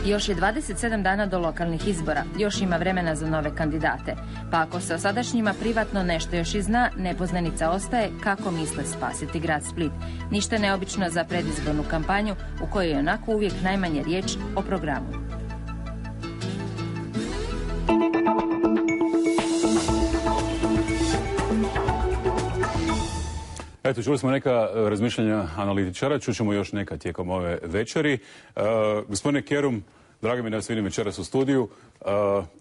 Još je 27 dana do lokalnih izbora, još ima vremena za nove kandidate. Pa ako se o sadašnjima privatno nešto još i zna, nepoznanica ostaje kako misle spasiti grad Split. Ništa neobično za predizbornu kampanju u kojoj je onako uvijek najmanje riječ o programu. Eto, čuli smo neka razmišljanja analitičara, čućemo još neka tijekom ove večeri. Gospodine Kerum, drago mi da vas vidim večeras u studiju.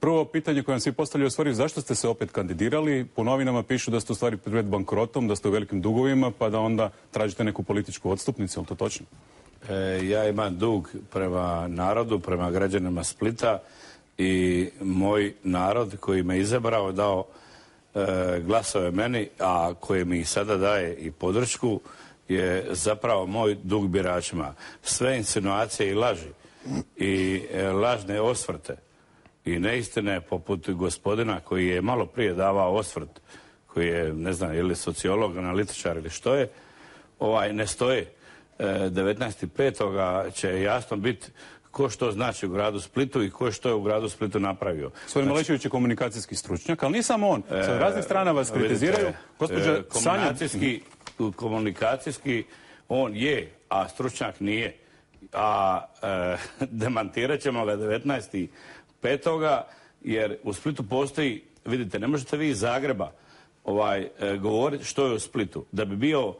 Prvo pitanje koje vam svi postavljaju u stvari, zašto ste se opet kandidirali? Po novinama pišu da ste u stvari pred bankrotom, da ste u velikim dugovima, pa da onda tražite neku političku odstupnicu, je li to točno? Ja imam dug prema narodu, prema građanima Splita i moj narod koji me izabrao, dao glasove meni, a koje mi sada daje i podršku, je zapravo moj dug biračima. Sve insinuacije i laži i lažne osvrte i neistine poput gospodina koji je malo prije davao osvrt, koji je, ne znam, ili sociolog, analitičar ili što je, ne stoje. 19.5. će jasno biti ko što znači u gradu Splitu i ko što je u gradu Splitu napravio. Gospodin Malešević je komunikacijski stručnjak, ali nije samo on. Sa raznih strana vas kritiziraju. Komunikacijski on je, a stručnjak nije. A demantirat ćemo ga 19.5. jer u Splitu postoji, vidite, ne možete vi iz Zagreba govoriti što je u Splitu. Da bi bio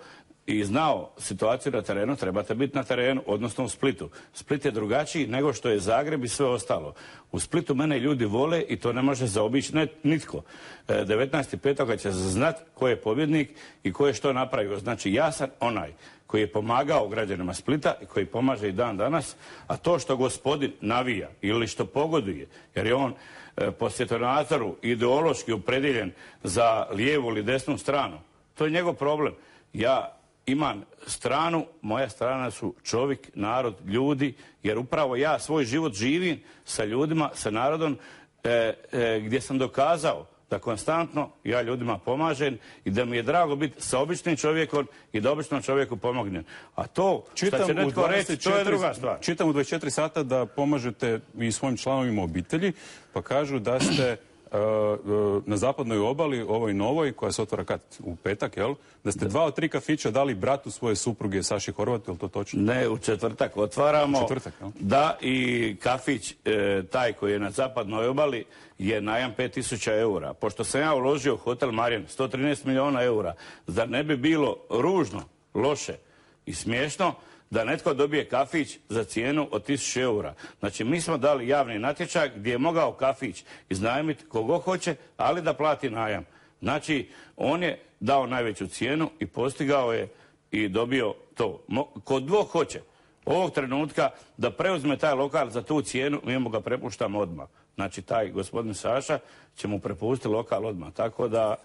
i znao situaciju na terenu, trebate biti na terenu, odnosno u Splitu. Split je drugačiji nego što je Zagreb i sve ostalo. U Splitu mene ljudi vole i to ne može zaobići nitko. 19.5. će znati ko je pobjednik i ko je što napravio. Znači, ja sam onaj koji je pomagao građanima Splita i koji pomaže i dan danas, a to što gospodin navija ili što pogoduje, jer je on po svjetonazoru ideološki opredjeljen za lijevu ili desnu stranu, to je njegov problem. Ja imam stranu, moja strana su čovjek, narod, ljudi, jer upravo ja svoj život živim sa ljudima, sa narodom, gdje sam dokazao da konstantno ja ljudima pomažem i da mi je drago biti sa običnim čovjekom i da običnom čovjeku pomognem. A to što će netko reći, to je druga stvar. Čitam u 24 sata da pomažete i svojim članovima obitelji, pa kažu da ste na zapadnoj obali, ovoj novoj, koja se otvara kad? U petak, jel? Da ste 2 od 3 kafića dali bratu svoje supruge Saši Horvatu, je li to točno? Ne, u četvrtak otvaramo. Četvrtak, jel? Da, i kafić, taj koji je na zapadnoj obali, je najam 5.000 eura. Pošto sam ja uložio u hotel Marijan 113 milijuna eura, zar ne bi bilo ružno, loše i smiješno da netko dobije kafić za cijenu od 1.000 eura. Znači, mi smo dali javni natječaj gdje je mogao kafić iznajmiti kogo hoće, ali da plati najam. Znači, on je dao najveću cijenu i postigao je i dobio to. Ko dvog hoće ovog trenutka da preuzme taj lokal za tu cijenu, mi mu ga prepuštamo odmah. Znači, taj gospodin Saša će mu prepustiti lokal odmah. Tako da,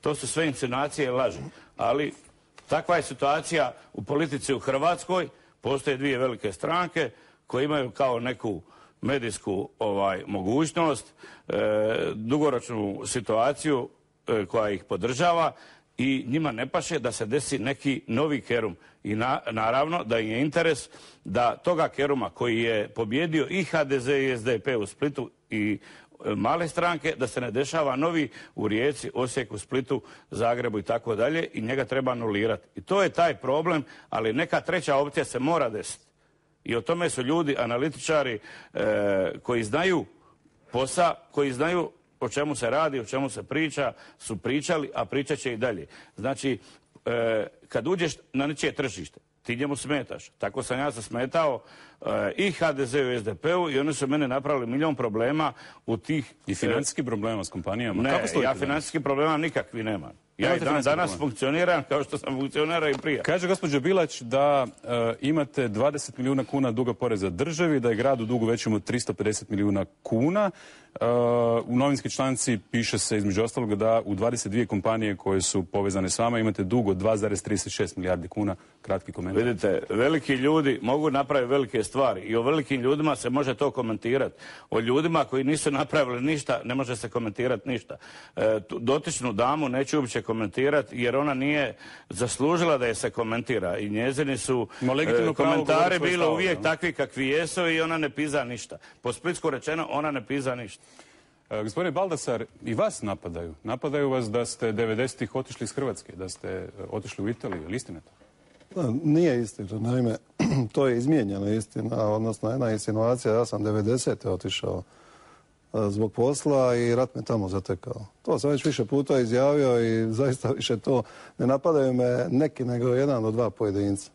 to su sve insinuacije i laži. Ali takva je situacija u politici u Hrvatskoj. Postoje 2 velike stranke koje imaju kao neku medijsku mogućnost, dugoročnu situaciju koja ih podržava i njima ne paše da se desi neki novi Kerum. I naravno da im je interes da toga Keruma koji je pobjedio i HDZ i SDP u Splitu i male stranke, da se ne dešava novi u Rijeci, Osijeku, Splitu, Zagrebu i tako dalje i njega treba anulirati. I to je taj problem, ali neka treća opcija se mora desiti. I o tome su ljudi, analitičari koji znaju posao, koji znaju o čemu se radi, o čemu se priča, su pričali, a pričat će i dalje. Znači, kad uđeš na nečije tržište, ti njemu smetaš. Tako sam ja se smetao i HDZ-u i SDP-u i oni su mene napravili milion problema u tih... I financijski problema s kompanijama? Ne, ja financijski problema nikakvi nemam. Ja i danas funkcioniram kao što sam funkcionirao i prije. Kaže gospođa Bilać da imate 20 milijuna kuna duga poreza državi, da je grad u dugu većem od 350 milijuna kuna. U novinskoj članci piše se između ostalog da u 22 kompanije koje su povezane s vama imate dug od 2,36 milijardi kuna. Kratki komentar. Vidite, veliki ljudi mogu napraviti velike stvari i o velikim ljudima se može to komentirati. O ljudima koji nisu napravili ništa ne može se komentirati ništa. Dotičnu damu neću uopće komentirati komentirati jer ona nije zaslužila da je se komentira i njezini su govoriti komentari svoj bilo stav, uvijek da. takvi kakvi jesu i ona ne piza ništa. Po splitsku rečeno, ona ne piza ništa. Gospodine Baldasar, i vas napadaju. Napadaju vas da ste 90-ih otišli iz Hrvatske, da ste otišli u Italiju. Je li istina to? Nije istina. Naime, to je izmijenjena istina, odnosno jedna insinuacija. Ja sam 90. otišao zbog posla i rat me tamo zatekao. To sam već više puta izjavio i zaista više to ne napadaju me neki nego 1 do 2 pojedinca.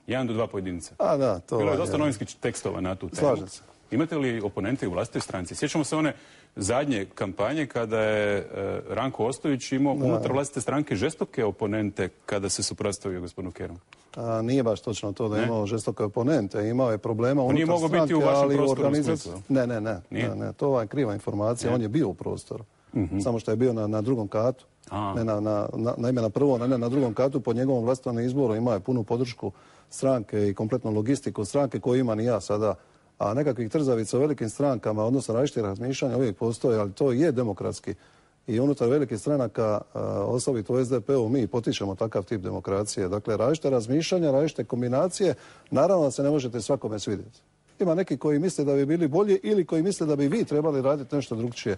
1 do 2 pojedinca. A da, to Bilo je dosta novinskih tekstova na tu temu. Slažem se. Imate li oponente u vlastitoj stranci? Sjećamo se one zadnje kampanje kada je Ranko Ostojić imao unutar vlastite stranke žestoke oponente kada se suprotstavio gospodinu Kerumu. Nije baš točno to da je imao žestoke oponente. Imao je problema unutar nije mogao stranke, biti u vašem ali prostoru u organizaciji... Splitu. Ne, to je kriva informacija. On je bio u prostoru. Samo što je bio na drugom katu. Naime, na prvom, a ne na drugom katu, pod njegovom vlastitom izboru imao je punu podršku stranke i kompletnu logistiku stranke koju imam i ja sada. A nekakvih trzavica u velikim strankama, odnosno različitih razmišljanja uvijek postoje, ali to je demokratski. I unutar velikih stranaka, osobito u SDP-u, mi potičemo takav tip demokracije. Dakle, različite razmišljanja, različite kombinacije, naravno da se ne možete svakome svidjeti. Ima neki koji misle da bi bili bolji ili koji misle da bi vi trebali raditi nešto drugčije.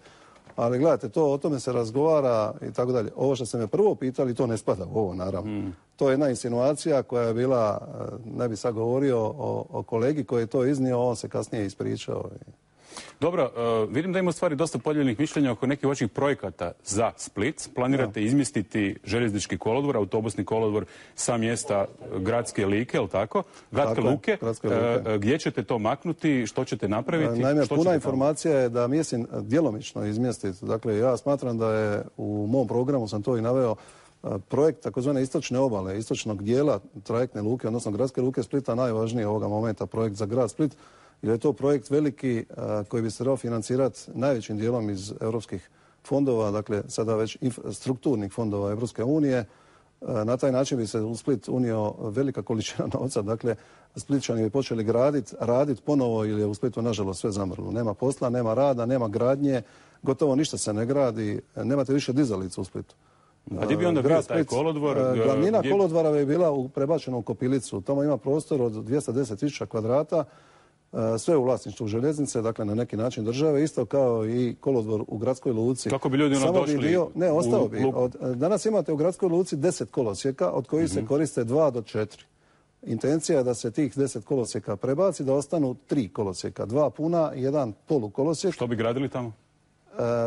Ali gledajte, o tome se razgovara i tako dalje. Ovo što ste me prvo pitali, to ne spada u ovo, naravno. To je jedna insinuacija koja je bila, ne bi sad govorio o kolegi koji je to iznio, on se kasnije ispričao. Dobro, vidim da ima u stvari dosta podijeljenih mišljenja oko nekih vaših projekata za Split. Planirate izmjestiti željeznički kolodvor, autobusni kolodvor sa mjesta Gradske Like, ili tako? Gradske Luke. Gdje ćete to maknuti? Što ćete napraviti? Naime, puna informacija je da mislim djelomično izmjestiti. Dakle, ja smatram da je u mom programu, sam to i naveo, projekt takozvane istočne obale, istočnog dijela trajektne luke, odnosno Gradske luke Splita, najvažniji ovoga momenta projekt za grad Split, jer je to projekt veliki koji bi se trebao financirati najvećim dijelom iz europskih fondova, dakle sada već strukturnih fondova Europske unije. Na taj način bi se u Split unio velika količina novca, dakle Splitčani bi počeli raditi ponovo, jer je u Splitu nažalost sve zamrlo. Nema posla, nema rada, nema gradnje, gotovo ništa se ne gradi, nemate više dizalica u Splitu. A gdje bi onda bio taj kolodvor? Glavnina kolodvora bi bila prebačena u Kopilicu. Tamo ima prostor od 210.000 kvadrata, sve u vlasništvu željeznice, dakle na neki način države, isto kao i kolodvor u Gradskoj luci. Kako bi ljudi došli? Ne, ostao bi. Danas imate u Gradskoj luci 10 kolosijeka, od kojih se koriste 2 do 4. Intencija je da se tih 10 kolosijeka prebaci, da ostanu 3 kolosijeka, 2 puna i 1 polukolosijek. Što bi gradili tamo?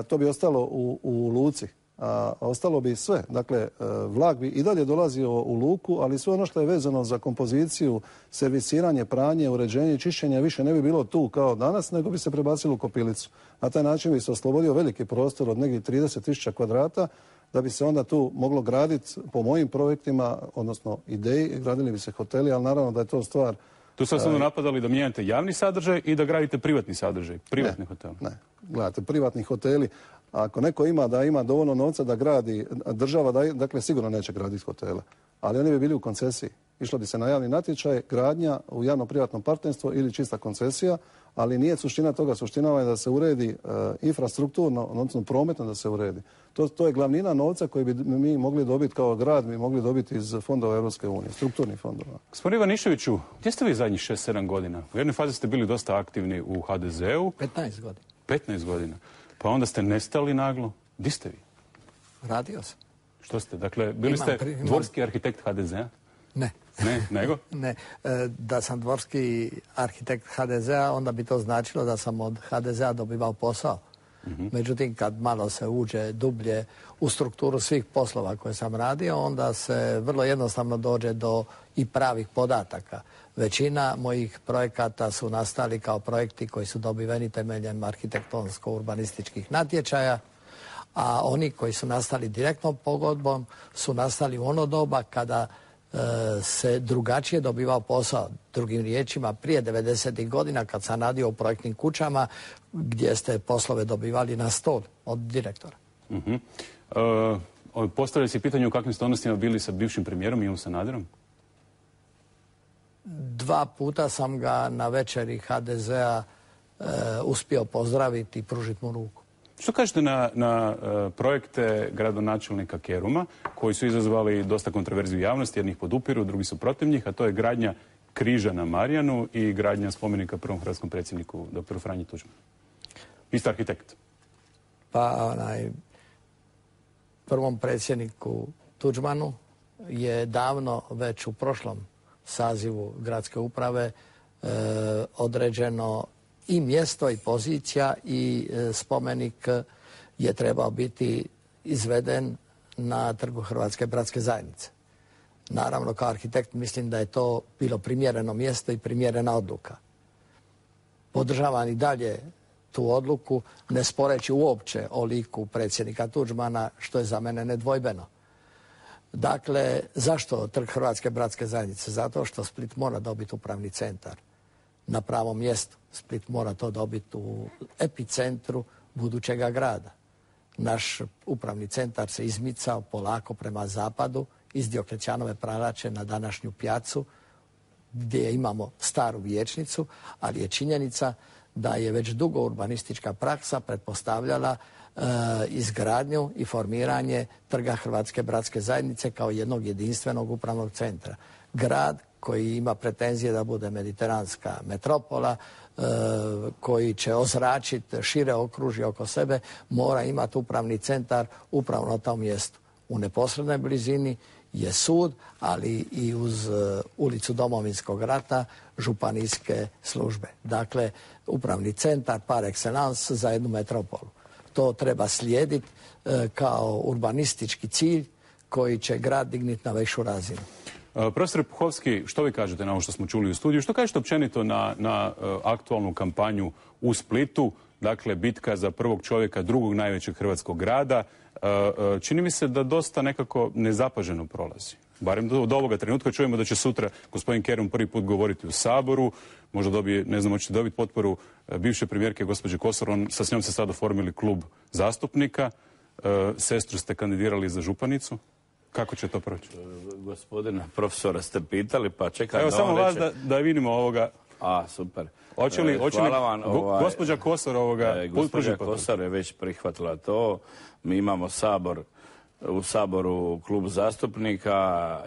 To bi ostalo u luci. A ostalo bi sve. Dakle, vlak bi i dalje dolazio u luku, ali sve ono što je vezano za kompoziciju, servisiranje, pranje, uređenje i čišćenje više ne bi bilo tu kao danas, nego bi se prebacilo u Kopilicu. Na taj način bi se oslobodio veliki prostor od negdje 30.000 kvadrata, da bi se onda tu moglo graditi po mojim projektima, odnosno ideji, gradili bi se hoteli, ali naravno da je to stvar... Tu ste samo napadali da mijenjate javni sadržaj i da gradite privatni sadržaj, privatni hotel. Ne, gledajte, privatni hoteli, ako neko ima dovoljno novca da gradi, država dakle sigurno neće graditi hotele, ali oni bi bili u koncesiji. Išlo bi se na javni natječaj, gradnja u javno-privatnom partnerstvu ili čista koncesija, ali nije suština toga. Suština je da se uredi infrastrukturno, odnosno prometno da se uredi. To je glavnina novca koji bi mi mogli dobiti kao grad, mi mogli dobiti iz fondova Europske unije, strukturnih fondova. Gospodin Ivaniševiću, gdje ste vi zadnjih 6-7 godina? U jednoj fazi ste bili dosta aktivni u HDZ-u. 15 godina. 15 godina. Pa onda ste nestali naglo. Gdje ste vi? Radio sam. Što ste? Dakle, bili ste dvorski arhitekt HDZ-a? Ne. Ne, nego? Ne. Da sam dvorski arhitekt HDZ-a, onda bi to značilo da sam od HDZ-a dobivao posao. Međutim, kad malo se uđe dublje u strukturu svih poslova koje sam radio, onda se vrlo jednostavno dođe do i pravih podataka. Većina mojih projekata su nastali kao projekti koji su dobiveni temeljem arhitektonsko-urbanističkih natječaja, a oni koji su nastali direktnom pogodbom su nastali u ono doba kada se drugačije dobivao posao. Drugim riječima, prije 90. godina kad sam radio u projektnim kućama gdje ste poslove dobivali na stol od direktora. Postavlja se pitanje u kakvim ste odnosima bili sa bivšim premijerom Ivom Sanaderom? 2 puta sam ga na večeri HDZ-a uspio pozdraviti i pružiti mu ruku. Što kažete na projekte gradonačelnika Keruma, koji su izazvali dosta kontroverziju javnosti, jednih podupiru, drugi su protiv njih, a to je gradnja križa na Marjanu i gradnja spomenika prvom hrvatskom predsjedniku, dr. Franji Tuđmanu? Vi ste arhitekt. Pa prvom predsjedniku Tuđmanu je davno, već u prošlom sazivu gradske uprave, određeno i mjesto i pozicija i spomenik je trebao biti izveden na Trgu Hrvatske bratske zajednice. Naravno, kao arhitekt mislim da je to bilo primjereno mjesto i primjerena odluka. Podržavam i dalje tu odluku, ne sporeći uopće o liku predsjednika Tuđmana, što je za mene nedvojbeno. Dakle, zašto Trg Hrvatske bratske zajednice? Zato što Split mora dobiti upravni centar na pravom mjestu. Split mora to dobiti u epicentru budućega grada. Naš upravni centar se izmicao polako prema zapadu iz Dioklecijanove pralače na današnju Pjacu, gdje imamo staru vijećnicu, ali je činjenica da je već dugo urbanistička praksa pretpostavljala izgradnju i formiranje Trga Hrvatske bratske zajednice kao jednog jedinstvenog upravnog centra. Grad koji ima pretenzije da bude mediteranska metropola, koji će ozračiti šire okružje oko sebe, mora imati upravni centar upravo na tom mjestu. U neposrednoj blizini je sud, ali i uz ulicu Domovinskog rata županijske službe. Dakle, upravni centar par excellence za jednu metropolu. To treba slijediti kao urbanistički cilj koji će grad digniti na višu razinu. Profesor Puhovski, što vi kažete na ovo što smo čuli u studiju? Što kažete općenito na aktualnu kampanju u Splitu? Dakle, bitka za prvog čovjeka drugog najvećeg hrvatskog grada. Čini mi se da dosta nekako nezapaženo prolazi. Barem do ovoga trenutka čujemo da će sutra gospodin Kerum prvi put govoriti u Saboru. Možda dobije, ne znam, hoćete dobiti potporu bivše premijerke gospođe Kosor. S njom se sad oformili klub zastupnika. Sestru ste kandidirali za županicu. Kako će to proći? Gospodina profesora ste pitali, pa čekaj. Evo samo vas da vidimo ovoga. A, super. Hoće li gospođa Kosor gospođa Kosor je već prihvatila to. Mi imamo u Saboru klub zastupnika,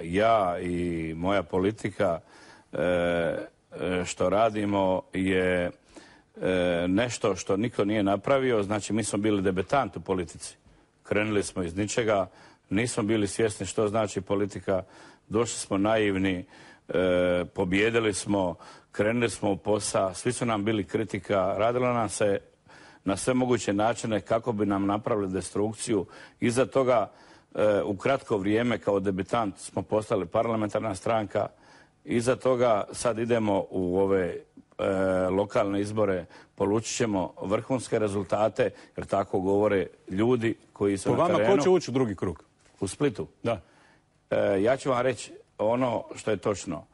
ja i moja politika. Što radimo je nešto što niko nije napravio. Znači, mi smo bili debetant u politici. Krenuli smo iz ničega. Nismo bili svjesni što znači politika, došli smo naivni, pobjedili smo, krenuli smo u posao, svi su nam bili kritika, radilo nam se na sve moguće načine kako bi nam napravili destrukciju. Iza toga u kratko vrijeme kao debitant smo postali parlamentarna stranka, iza toga sad idemo u ove lokalne izbore, polučit ćemo vrhunske rezultate, jer tako govore ljudi koji su na terenu. Po vama ko će ući u drugi krug? U Splitu? Da. Ja ću vam reći ono što je točno.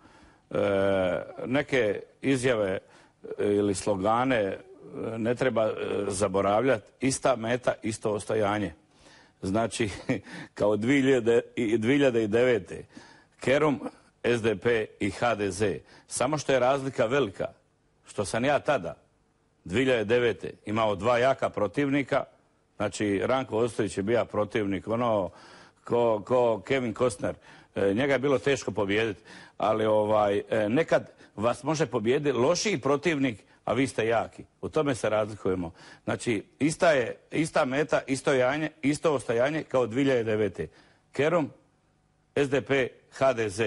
Neke izjave ili slogane ne treba zaboravljati. Ista meta, isto ostajanje. Znači, kao 2009. Kerum, SDP i HDZ. Samo što je razlika velika, što sam ja tada, 2009. imao dva jaka protivnika. Znači, Ranko Ostojić je bio protivnik, ko Kevin Costner. Njega je bilo teško pobijediti, ali nekad vas može pobijediti lošiji protivnik, a vi ste jaki. U tome se razlikujemo. Znači, ista meta, isto ostajanje kao 2009. Kerum, SDP, HDZ.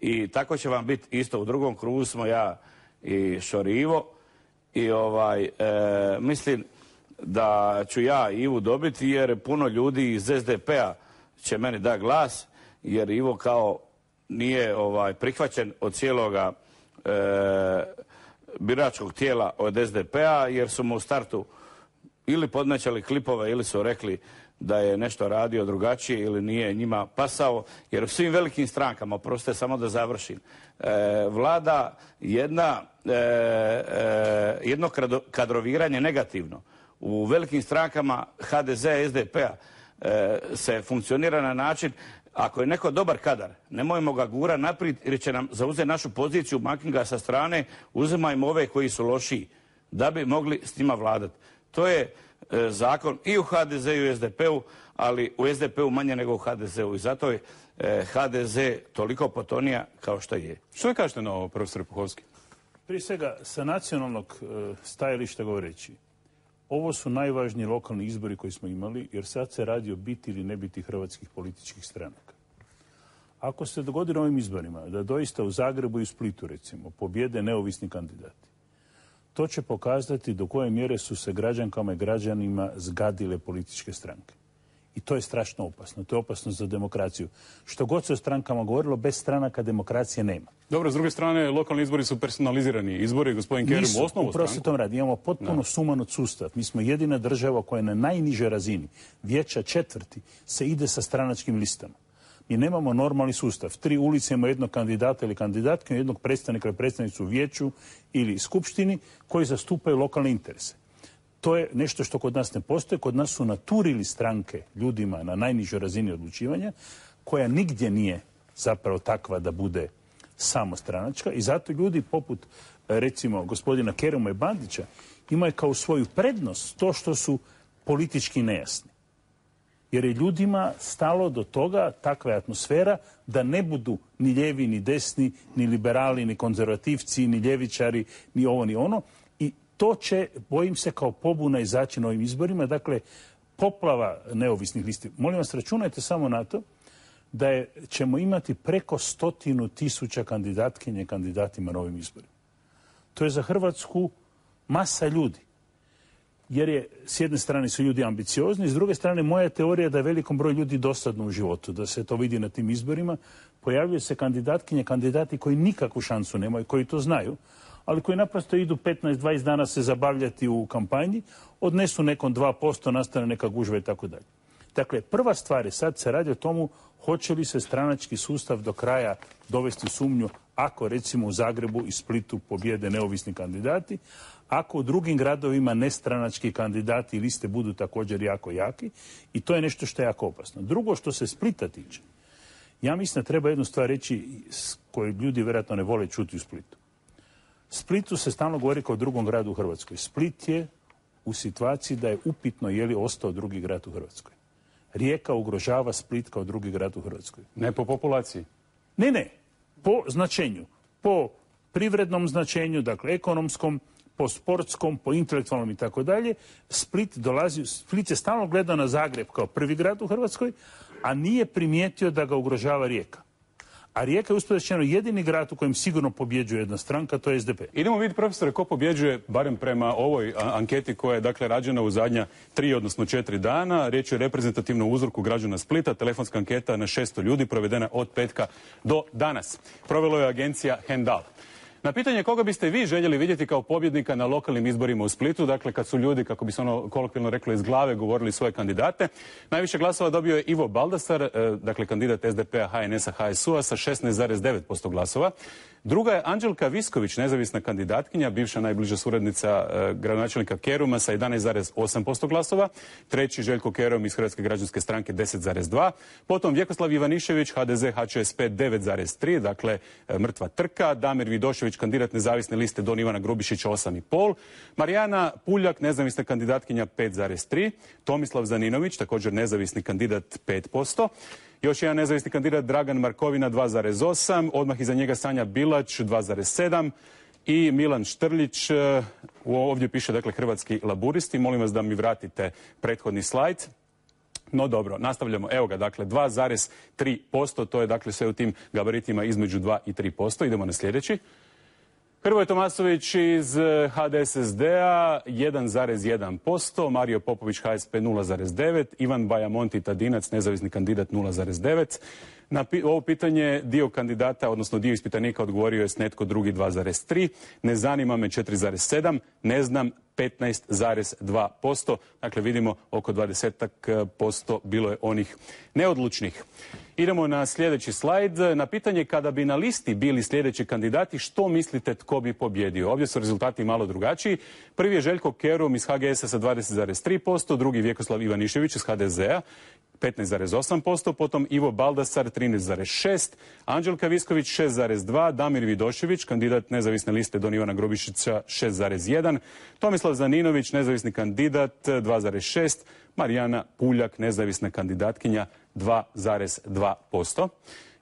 I tako će vam biti isto. U drugom krugu smo ja i Šorivo. I mislim da ću ja Ivu dobiti, jer puno ljudi iz SDP-a će meni dati glas, jer Ivo kao nije prihvaćen od cijeloga biračkog tijela od SDP-a, jer su mu u startu ili podmećali klipove ili su rekli da je nešto radio drugačije ili nije njima pasao, jer u svim velikim strankama, oprostite samo da završim, vlada jedno kadroviranje negativno. U velikim strankama HDZ-a i SDP-a se funkcionira na način, ako je neko dobar kadar, nemojmo ga gura naprijed jer će nam zauzeti našu poziciju, makni ga sa strane, uzimajmo ove koji su lošiji, da bi mogli s njima vladati. To je zakon i u HDZ-u i u SDP-u, ali u SDP-u manje nego u HDZ-u. I zato je HDZ toliko potonija kao što je. Što vi kažete na ovo, profesor Puhovski? Prije svega, sa nacionalnog stajališta govoreći, ovo su najvažniji lokalni izbori koji smo imali, jer sad se radi o biti ili ne biti hrvatskih političkih stranaka. Ako se dogodi na ovim izborima da doista u Zagrebu i u Splitu, recimo, pobjede neovisni kandidati, to će pokazati do koje mjere su se građankama i građanima zgadile političke stranke. I to je strašno opasno. To je opasno za demokraciju. Što god se o strankama govorilo, bez stranaka demokracije nema. Dobro, s druge strane, lokalni izbori su personalizirani izbori. Gospodin Kerum u osnovu stranku. Imamo potpuno sumanut sustav. Mi smo jedina država koja je na najnižoj razini, vijeća četvrti, se ide sa stranačkim listama. Mi nemamo normalni sustav. 3 ulice ima jednog kandidata ili kandidatke, jednog predstavnika ili predstavnicu u vijeću ili skupštini koji zastupaju lokalne interese. To je nešto što kod nas ne postoji. Kod nas su naturili stranke ljudima na najnižoj razini odlučivanja, koja nigdje nije zapravo takva da bude samostranačka. I zato ljudi poput, recimo, gospodina Keruma i Bandića imaju kao svoju prednost to što su politički nejasni. Jer je ljudima stalo do toga, takva je atmosfera, da ne budu ni lijevi, ni desni, ni liberali, ni konzervativci, ni ljevičari, ni ovo, ni ono. I to će, bojim se, kao pobuna izaći na ovim izborima. Dakle, poplava neovisnih listi. Molim vas, računajte samo na to da ćemo imati preko 100.000 kandidatkinje i kandidatima na ovim izborima. To je za Hrvatsku masa ljudi. Jer je, s jedne strane su ljudi ambiciozni, s druge strane moja teorija da je velikom broju ljudi dosadno u životu, da se to vidi na tim izborima. Pojavljaju se kandidatkinje, kandidati koji nikakvu šansu nemaju, koji to znaju, ali koji naprosto idu 15-20 dana se zabavljati u kampanji, odnesu nekom 2%, nastane neka gužva i tako dalje. Dakle, prva stvar je, sad se radi o tomu hoće li se stranački sustav do kraja dovesti u sumnju ako, recimo, u Zagrebu i Splitu pobjede neovisni kandidati, ako u drugim gradovima nestranački kandidati i liste budu također jako jaki, i to je nešto što je jako opasno. Drugo, što se Splita tiče, ja mislim da treba jednu stvar reći koju ljudi vjerojatno ne vole čuti u Splitu. Splitu se stalno govori kao drugom gradu u Hrvatskoj. Split je u situaciji da je upitno je li ostao drugi grad u Hrvatskoj. Rijeka ugrožava Split kao drugi grad u Hrvatskoj. Ne po populaciji? Ne. Po značenju. Po privrednom značenju, dakle ekonomskom, po sportskom, po intelektualnom i tako dalje. Split je stalno gledao na Zagreb kao prvi grad u Hrvatskoj, a nije primijetio da ga ugrožava Rijeka. A Rijeka je uspješno jedini grad u kojem sigurno pobjeđuje jedna stranka, to je SDP. Idemo vidjeti, profesore, ko pobjeđuje, barem prema ovoj anketi koja je, dakle, rađena u zadnja 3, odnosno 4 dana. Riječ je o reprezentativnom uzorku građana Splita, telefonska anketa na 600 ljudi, provedena od petka do danas. Provelo je agencija Hendal. Na pitanje koga biste vi željeli vidjeti kao pobjednika na lokalnim izborima u Splitu, dakle kad su ljudi, kako bi se ono kolokvijalno reklo, iz glave govorili svoje kandidate, najviše glasova dobio je Ivo Baldasar, dakle kandidat SDP-a, HNS-a, HSU-a sa 16,9% glasova. Druga je Anđelka Visković, nezavisna kandidatkinja, bivša najbliža suradnica gradonačelnika Keruma sa 11,8% glasova. Treći Željko Kerum iz Hrvatske građanske stranke 10,2%. Potom Vjekoslav Ivanišević, HDZ, HČSP 9,3%, dakle mrtva trka. Damir Vidošević, kandidat nezavisne liste Don Ivana Grubišića 8,5%. Marijana Puljak, nezavisna kandidatkinja 5,3%. Tomislav Zaninović, također nezavisni kandidat 5%. Još jedan nezavisni kandidat Dragan Markovina 2,8%, odmah iza njega Sanja Bilać 2,7% i Milan Štrljić, ovdje piše dakle Hrvatski laburisti. Molim vas da mi vratite prethodni slajd. No dobro, nastavljamo. Evo ga, dakle 2,3%, to je dakle sve u tim gabaritima između 2 i 3%. Idemo na sljedeći. Hrvoje Tomasović iz HDSSD-a 1,1%, Mario Popović HSP 0,9%, Ivan Bajamonti Tadinac, nezavisni kandidat 0,9%. Na ovo pitanje dio kandidata, odnosno dio ispitanika odgovorio je s netko drugi 2,3%, ne zanima me 4,7%, ne znam 15,2%. Dakle, vidimo oko 20% bilo je onih neodlučnih. Idemo na sljedeći slajd. Na pitanje kada bi na listi bili sljedeći kandidati, što mislite tko bi pobjedio? Ovdje su rezultati malo drugačiji. Prvi je Željko Kerum iz HGS-a sa 20,3%, drugi Vjekoslav Ivanišević iz HDZ-a 15,8%, potom Ivo Baldasar 13,6%, Anđelka Visković 6,2%, Damir Vidošević, kandidat nezavisne liste Don Ivana Grubišića 6,1%, Tomislav Zaninović, nezavisni kandidat 2,6%, Marijana Puljak, nezavisna kandidatkinja 2,2%.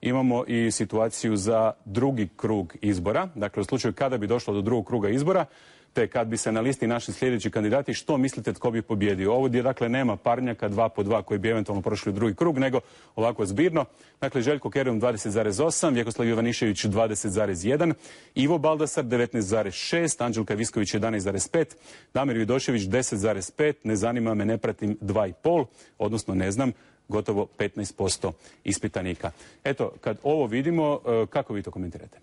Imamo i situaciju za drugi krug izbora. Dakle, u slučaju kada bi došlo do drugog kruga izbora, te kad bi se na listi našli sljedeći kandidati, što mislite tko bi pobjedio? Ovdje, dakle, nema parnjaka 2 po 2 koji bi eventualno prošli u drugi krug, nego ovako zbirno. Dakle, Željko Kerum 20,8%, Vjekoslav Ivanišević 20,1%, Ivo Baldasar 19,6%, Anđelka Visković 11,5%, Damir Vidošević 10,5%, ne zanima me, ne pratim 2,5%, odnosno ne znam, gotovo 15% ispitanika. Eto, kad ovo vidimo, kako vi to komentirate?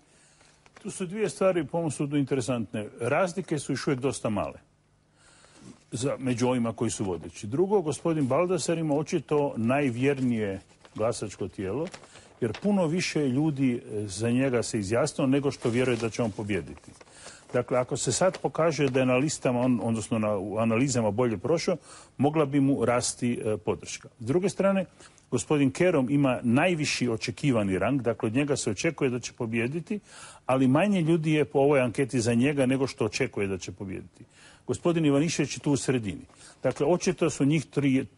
Tu su dvije stvari po mom sudu interesantne. Razlike su još uvijek dosta male među ovima koji su vodeći. Drugo, gospodin Baldasar ima očito najvjernije glasačko tijelo, jer puno više ljudi za njega se izjasnilo nego što vjeruje da će on pobijediti. Dakle, ako se sad pokaže da je na listama, odnosno u analizama bolje prošao, mogla bi mu rasti podrška. S druge strane, gospodin Kerum ima najviši očekivani rang, dakle od njega se očekuje da će pobijediti, ali manje ljudi je po ovoj anketi za njega nego što očekuje da će pobijediti. Gospodin Ivanišević je tu u sredini. Dakle, očito su njih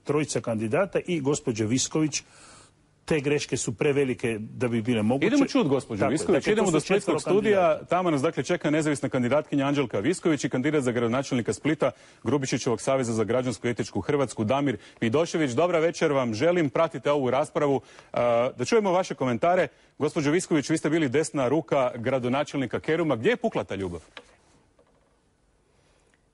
trojica kandidata i gospođa Visković. Te greške su prevelike da bi bile moguće. Idemo čuti gospođu Visković, idemo do Splitskog studija. Tamo nas dakle čeka nezavisna kandidatkinja Anđelka Visković i kandidat za gradonačelnika Splita Grubišićevog saveza za građansku i etičku Hrvatsku Damir Vidošević. Dobra večer vam želim, pratite ovu raspravu. Da čujemo vaše komentare. Gospođo Visković, vi ste bili desna ruka gradonačelnika Keruma. Gdje je pukla ta ljubav?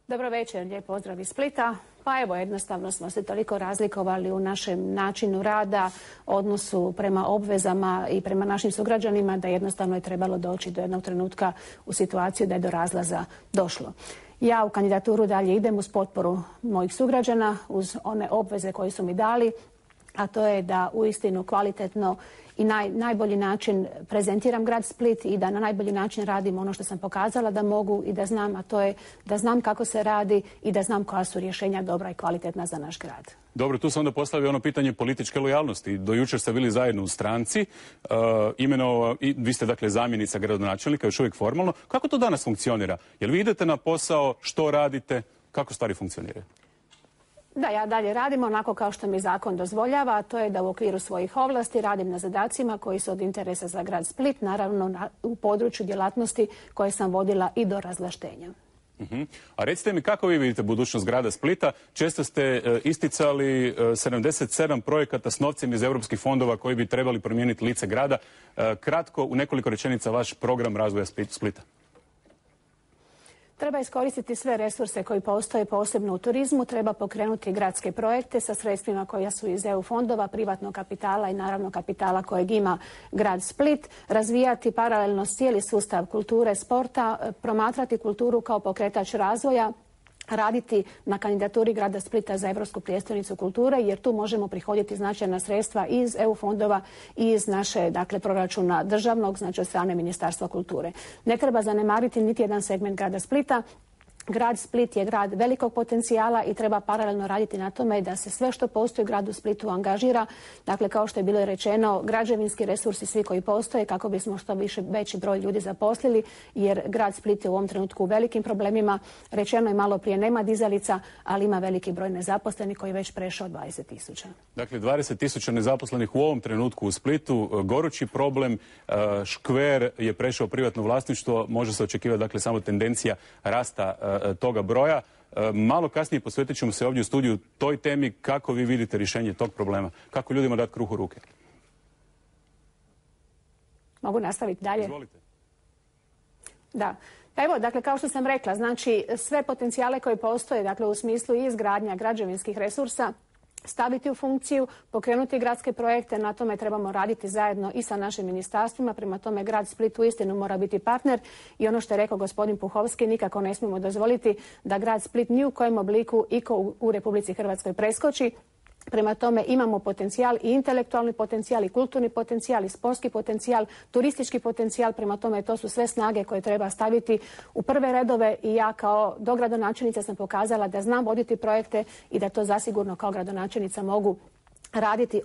Dobro večer, lijep pozdrav iz Splita. Pa evo, jednostavno smo se toliko razlikovali u našem načinu rada, odnosu prema obvezama i prema našim sugrađanima da jednostavno je trebalo doći do jednog trenutka u situaciju da je do razlaza došlo. Ja u kandidaturu dalje idem uz potporu mojih sugrađana, uz one obveze koje su mi dali, a to je da uistinu kvalitetno i najbolji način prezentiram grad Split i da na najbolji način radim ono što sam pokazala da mogu i da znam, a to je da znam kako se radi i da znam koja su rješenja dobra i kvalitetna za naš grad. Dobro, tu se onda postavlja ono pitanje političke lojalnosti. Do jučer ste bili zajedno u stranci, vi ste dakle zamjenica gradonačelnika, još uvijek formalno. Kako to danas funkcionira? Jel vi idete na posao, što radite, kako stvari funkcioniraju? Da, ja dalje radim onako kao što mi zakon dozvoljava, a to je da u okviru svojih ovlasti radim na zadacima koji su od interesa za grad Split, naravno u području djelatnosti koje sam vodila i do razvlaštenja. A recite mi kako vi vidite budućnost grada Splita? Često ste isticali 77 projekata s novcem iz europskih fondova koji bi trebali promijeniti lice grada. Kratko, u nekoliko rečenica, vaš program razvoja Splita. Treba iskoristiti sve resurse koji postoje posebno u turizmu, treba pokrenuti gradske projekte sa sredstvima koja su iz EU fondova, privatnog kapitala i naravno kapitala kojeg ima grad Split, razvijati paralelno cijeli sustav kulture, sporta, promatrati kulturu kao pokretač razvoja, raditi na kandidaturi grada Splita za Europsku prijestolnicu kulture, jer tu možemo prihoditi značajna sredstva iz EU fondova i iz naše proračuna državnog, znači od strane Ministarstva kulture. Ne treba zanemariti niti jedan segment grada Splita. Grad Split je grad velikog potencijala i treba paralelno raditi na tome da se sve što postoji u gradu Splitu angažira. Dakle, kao što je bilo rečeno, građevinski resursi svi koji postoje kako bismo što veći broj ljudi zaposlili, jer grad Split je u ovom trenutku u velikim problemima. Rečeno je malo prije, nema dizalica, ali ima veliki broj nezaposlenih koji je već prešao 20.000. Dakle, 20.000 nezaposlenih u ovom trenutku u Splitu, gorući problem. Škver je prešao privatno vlasništvo, može se očekivati dakle samo tendencija rasta toga broja. Malo kasnije posvetit ćemo se ovdje u studiju toj temi. Kako vi vidite rješenje tog problema? Kako ljudima dati kruh u ruke? Mogu nastaviti dalje? Izvolite. Da. Evo, dakle, kao što sam rekla, znači sve potencijale koje postoje, dakle u smislu izgradnja građevinskih resursa, staviti u funkciju, pokrenuti gradske projekte, na tome trebamo raditi zajedno i sa našim ministarstvima, prema tome grad Split uistinu mora biti partner i ono što je rekao gospodin Puhovski, nikako ne smijemo dozvoliti da grad Split ni u kojem obliku iko u Republici Hrvatskoj preskoči. Prema tome imamo potencijal i intelektualni potencijal i kulturni potencijal i sportski potencijal, turistički potencijal. Prema tome to su sve snage koje treba staviti u prve redove i ja kao dogradonačelnica sam pokazala da znam voditi projekte i da to zasigurno kao gradonačelnica mogu raditi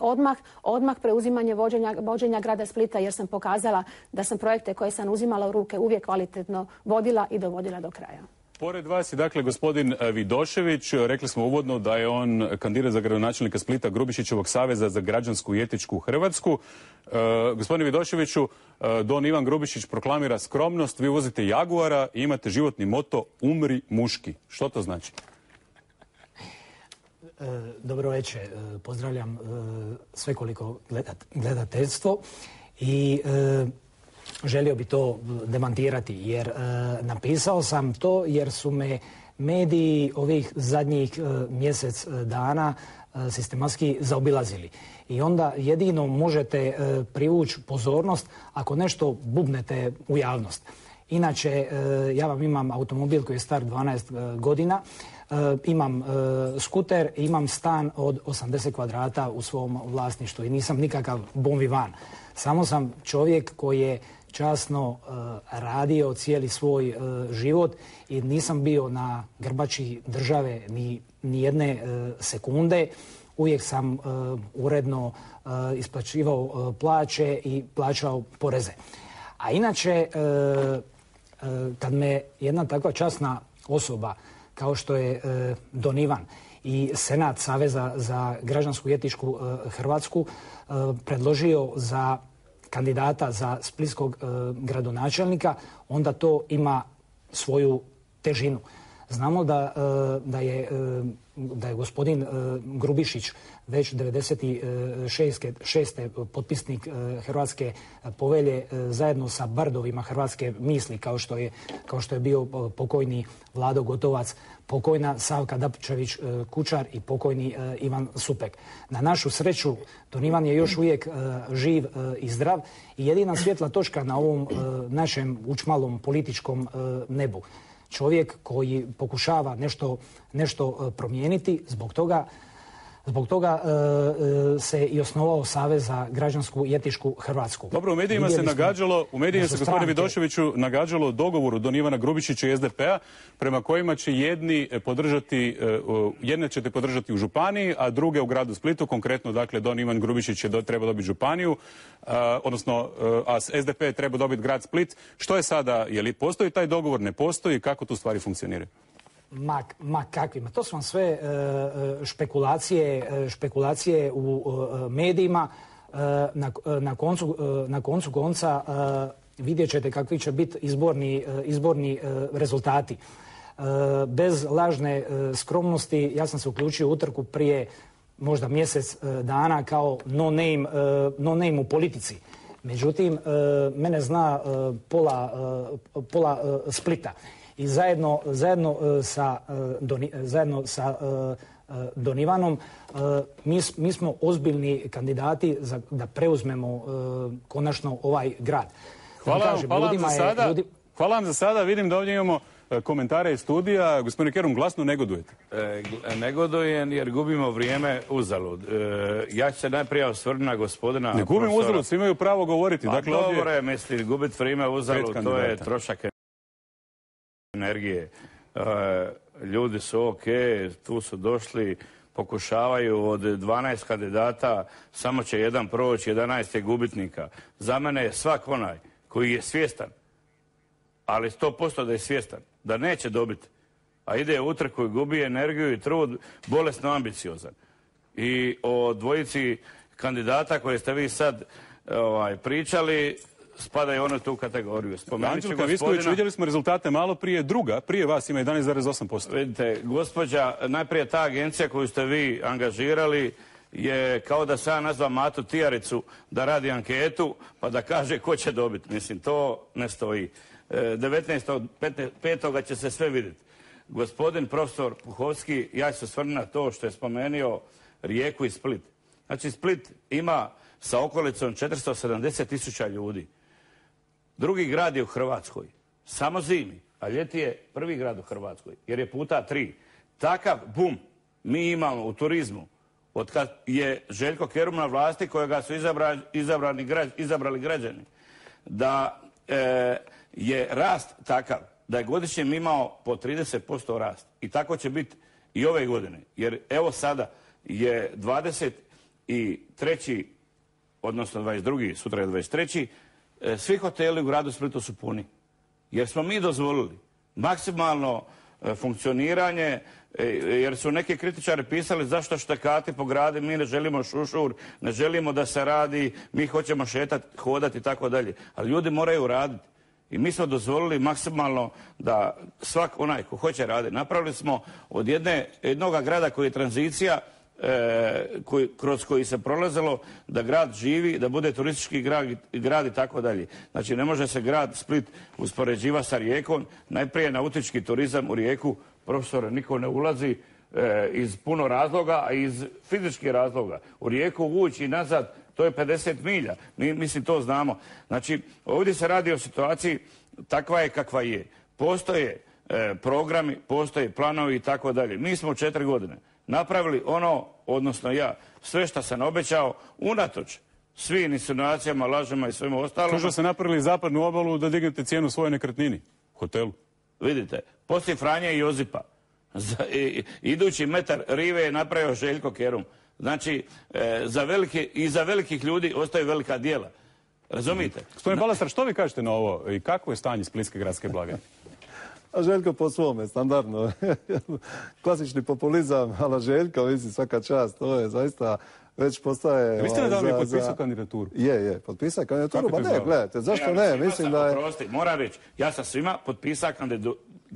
odmah preuzimanje vođenja grada Splita jer sam pokazala da sam projekte koje sam uzimala u ruke uvijek kvalitetno vodila i dovodila do kraja. Pored vas je dakle gospodin Vidošević, rekli smo uvodno da je on kandidat za gradonačelnika Splita Grubišićevog saveza za građansku i etičku Hrvatsku. Gospodine Vidoševiću, don Ivan Grubišić proklamira skromnost, vi vozite Jaguara i imate životni moto umri muški. Što to znači? Dobro večer, pozdravljam svekoliko gledateljstvo i želio bi to demantirati jer napisao sam to jer su me mediji ovih zadnjih mjesec dana sistematski zaobilazili. I onda jedino možete privući pozornost ako nešto bubnete u javnost. Inače, ja vam imam automobil koji je star 12 godina, imam skuter, imam stan od 80 kvadrata u svom vlasništvu i nisam nikakav bon vivant. Samo sam čovjek koji je časno radio cijeli svoj život i nisam bio na grbači države ni jedne sekunde. Uvijek sam uredno isplaćivao plaće i plaćao poreze. A inače, kad me jedna takva časna osoba kao što je don Ivan i Senat Saveza za građansku i etičku Hrvatsku predložio za kandidata za splitskog gradonačelnika, onda to ima svoju težinu. Znamo da je gospodin Grubišić već 96. potpisnik Hrvatske povelje zajedno sa bardovima hrvatske misli kao što je bio pokojni Vlado Gotovac, pokojna Savka Dapčević-Kučar i pokojni Ivan Supek. Na našu sreću, don Ivan je još uvijek živ i zdrav i jedina svjetla točka na ovom našem učmalom političkom nebu. Čovjek koji pokušava nešto promijeniti, zbog toga se i osnovao Savez za građansku i etičku Hrvatsku. Dobro, u medijima se gospodine Vidoševiću nagađalo dogovoru don Ivana Grubišića i SDP-a prema kojima će jedne ćete podržati u županiji, a druge u gradu Splitu. Konkretno, dakle, don Ivan Grubišić je trebao dobiti županiju, a SDP je trebao dobiti grad Split. Što je sada? Je li postoji taj dogovor? Ne postoji? Kako tu stvari funkcioniraju? Ma kakvima. To su vam sve špekulacije u medijima. Na koncu konca vidjet ćete kakvi će biti izborni rezultati. Bez lažne skromnosti ja sam se uključio u utrku prije možda mjesec dana kao no name u politici. Međutim, mene zna pola Splita. I zajedno sa don Ivanom mi smo ozbiljni kandidati da preuzmemo konačno ovaj grad. Hvala vam za sada. Vidim da ovdje imamo komentare iz studija. Gospodine Kerum, glasno negodujete. Negodujem jer gubimo vrijeme uzalud. Ja ću se najprije osvrnuti na gospodina Ne gubimo uzalud, svi imaju pravo govoriti. Pa dobro je, mislim, gubiti vrijeme uzalud, to je trošak energije. Ljudi su ok, tu su došli, pokušavaju od 12 kandidata, samo će jedan proći, 11 je gubitnika. Za mene je svak onaj koji je svjestan, ali 100% da je svjestan, da neće dobiti, a ide u utrku i gubi energiju i trud, bolesno ambiciozan. I o dvojici kandidata koje ste vi sad pričali, spadaju one tu kategoriju. Anđelka Visković, vidjeli smo rezultate malo prije, druga, prije vas ima 11,8%. Vidite, gospođa, najprije ta agencija koju ste vi angažirali je kao da sam nazva Matu Tijaricu da radi anketu pa da kaže ko će dobiti. Mislim, to ne stoji. 19.5. će se sve vidjeti. Gospodin profesor Puhovski, ja ću se osvrnuti na to što je spomenuo Rijeku i Split. Znači, Split ima sa okolicom 470.000 ljudi. Drugi grad je u Hrvatskoj, samo zimi, a ljeti je prvi grad u Hrvatskoj, jer je puta 3. Takav bum mi imamo u turizmu od kad je Željko Kerum na vlasti kojega su izabrali građani, da je rast takav da je godišnje imao po 30% rast. I tako će biti i ove godine. Jer evo sada je 23. odnosno 22. sutra je 23. Svi hoteli u gradu Splitu su puni. Jer smo mi dozvolili maksimalno funkcioniranje, jer su neki kritičari pisali zašto štekati po gradu, mi ne želimo šušur, ne želimo da se radi, mi hoćemo šetati, hodati i tako dalje. Ali ljudi moraju raditi. I mi smo dozvolili maksimalno da svak onaj ko hoće raditi. Napravili smo od jednoga grada koji je tranzicija, kroz koji se prolazilo da grad živi, da bude turistički grad i tako dalje. Znači ne može se grad Split uspoređivati sa Rijekom. Najprije nautički turizam u Rijeku, profesore, niko ne ulazi iz puno razloga, a iz fizičkih razloga. U Rijeku ući i nazad, to je 50 milja. Mislim, to znamo. Znači, ovdje se radi o situaciji takva je kakva je. Postoje programi, postoje planovi i tako dalje. Mi smo u 4 godine napravili ono, odnosno ja, sve što sam obećao, unatoč svim insinuacijama, lažima i svemu ostalom. Kažu da ste napravili zapadnu obalu da dignete cijenu svojoj nekretnini, hotelu. Vidite, poslije Franje i Josipa, idući metar rive je napravio Željko Kerum. Znači, za velikih ljudi ostaju velika djela. Razumijete? Gospodine Balasar, što vi kažete na ovo i kakvo je stanje splitske gradske blagajne? A Željko po svome, standardno. Klasični populizam, ala Željko, mislim, svaka čast, to je zaista već postaje... Vi ste nedavno je potpisao kandidaturu? Je, potpisao kandidaturu, pa ne, gledajte, zašto ne, mislim da je... Prosti, moram reći, ja sam svima potpisao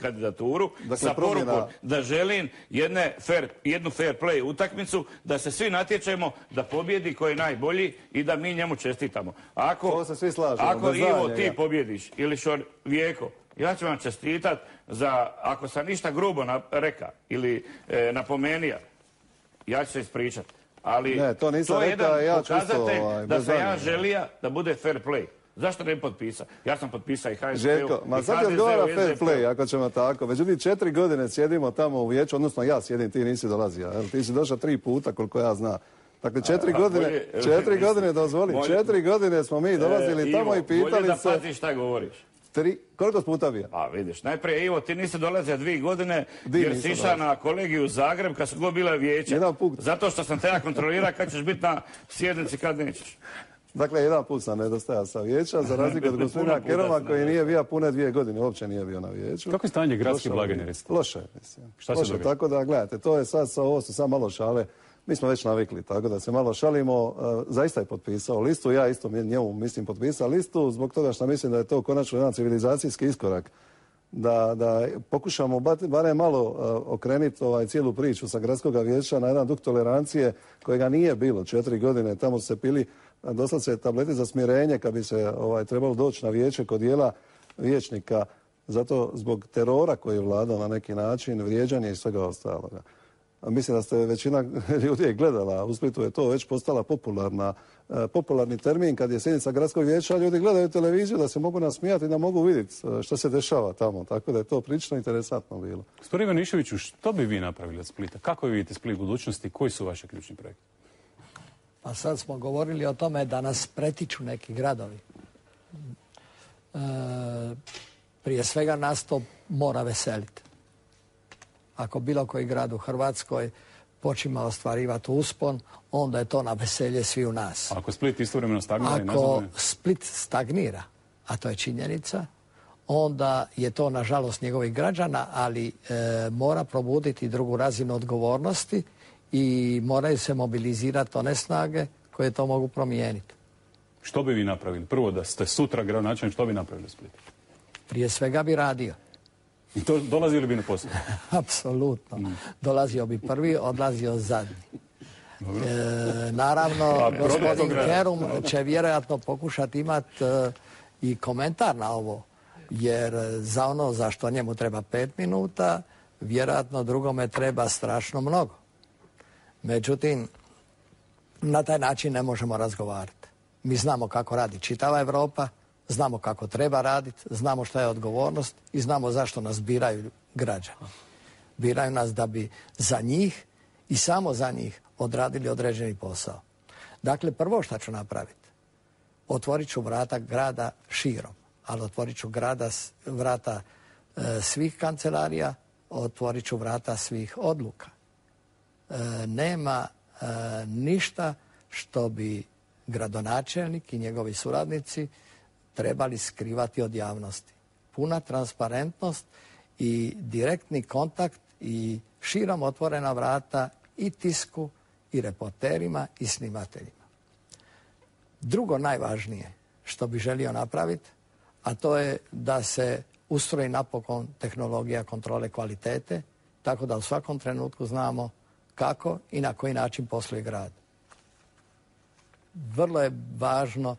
kandidaturu sa porukom da želim jednu fair play utakmicu, da se svi natječemo, da pobjedi koji je najbolji i da mi njemu čestitamo. To se svi slažemo. Ako Ivo ti pobjediš ili Vijeko, ja ću vam čestitat za, ako sam ništa grubo reka ili napomenija, ja ću se ispričat. Ali to je jedan pokazatelj da sam ja želija da bude fair play. Zašto ne bi potpisao? Ja sam potpisao i HSP-u i HDZ-u. Željko, ma sad je odgovara fair play, ako ćemo tako. Međutim, 4 godine sjedimo tamo u vijeću, odnosno ja sjedim, ti nisi dolazio. Ti si došao 3 puta, koliko ja znam. Dakle, 4 godine, dozvoli, 4 godine smo mi dolazili tamo i pitali se... Bolje da paziš šta govoriš. Koliko puta bio? A vidiš, najprije Ivo, ti nisi dolazio 2 godine jer si išao na kolegiju u Zagreb kad su god bila vijeća. Zato što sam te ja kontrolirao kad ćeš biti na sjednici, kad nećeš. Dakle, jedan put sam nedostajao sa vijeća, za razliku od gospodina Keruma koji nije bio pune 2 godine, uopće nije bio na vijeću. Kako je stanje gradske blagajne? Loše, mislim. Šta se događa? Tako da, gledajte, to je ovo su sad malo šale. Mi smo već navikli, tako da se malo šalimo. Zaista je potpisao listu, ja isto njemu mislim potpisao listu, zbog toga što mislim da je to konačno jedan civilizacijski iskorak. Da pokušamo barem malo okrenuti cijelu priču sa gradskog vijeća na jedan duh tolerancije kojega nije bilo 4 godine. Tamo su se pili doslovce tableti za smirenje kad bi se trebalo doći na vijeće kod dijela vijećnika. Zato zbog terora koji je vladao na neki način, vrijeđanje i svega ostaloga. Mislim da ste većina ljudi gledala, u Splitu je to već postala popularni termin kad je sjednica gradskog vijeća, ljudi gledaju televiziju da se mogu nasmijati i da mogu vidjeti što se dešava tamo, tako da je to prilično interesantno bilo. Gospodin Ivaniševiću, što bi vi napravili od Splita? Kako vi vidite Split budućnosti? Koji su vaši ključni projekti? Pa sad smo govorili o tome da nas pretiču neki gradovi. Prije svega nas to mora veseliti. Ako bilo koji grad u Hrvatskoj počima ostvarivati uspon, onda je to na veselje svi u nas. Ako Split istovremeno stagnira i nazaduje? Ako Split stagnira, a to je činjenica, onda je to nažalost njegovih građana, ali mora probuditi drugu razinu odgovornosti i moraju se mobilizirati one snage koje to mogu promijeniti. Što bi vi napravili? Prvo da ste sutra gradonačelnik, što bi napravili u Splitu? Prije svega bi radio. I to dolazili bi na posao? Apsolutno. Dolazio bi prvi, odlazio zadnji. Naravno, gospodin Kerum će vjerojatno pokušati imati i komentar na ovo, jer za ono za što njemu treba 5 minuta, vjerojatno drugome treba strašno mnogo. Međutim, na taj način ne možemo razgovarati. Mi znamo kako radi čitava Europa, znamo kako treba raditi, znamo šta je odgovornost i znamo zašto nas biraju građani. Biraju nas da bi za njih i samo za njih odradili određeni posao. Dakle, prvo što ću napraviti, otvorit ću vrata grada širom, ali otvorit ću vrata svih kancelarija, otvorit ću vrata svih odluka. Nema ništa što bi gradonačelnik i njegovi suradnici trebali skrivati od javnosti. Puna transparentnost i direktni kontakt i širom otvorena vrata i tisku i reporterima i snimateljima. Drugo najvažnije što bi želio napraviti, a to je da se ustroji napokon tehnologija kontrole kvalitete, tako da u svakom trenutku znamo kako i na koji način posluje grad. Vrlo je važno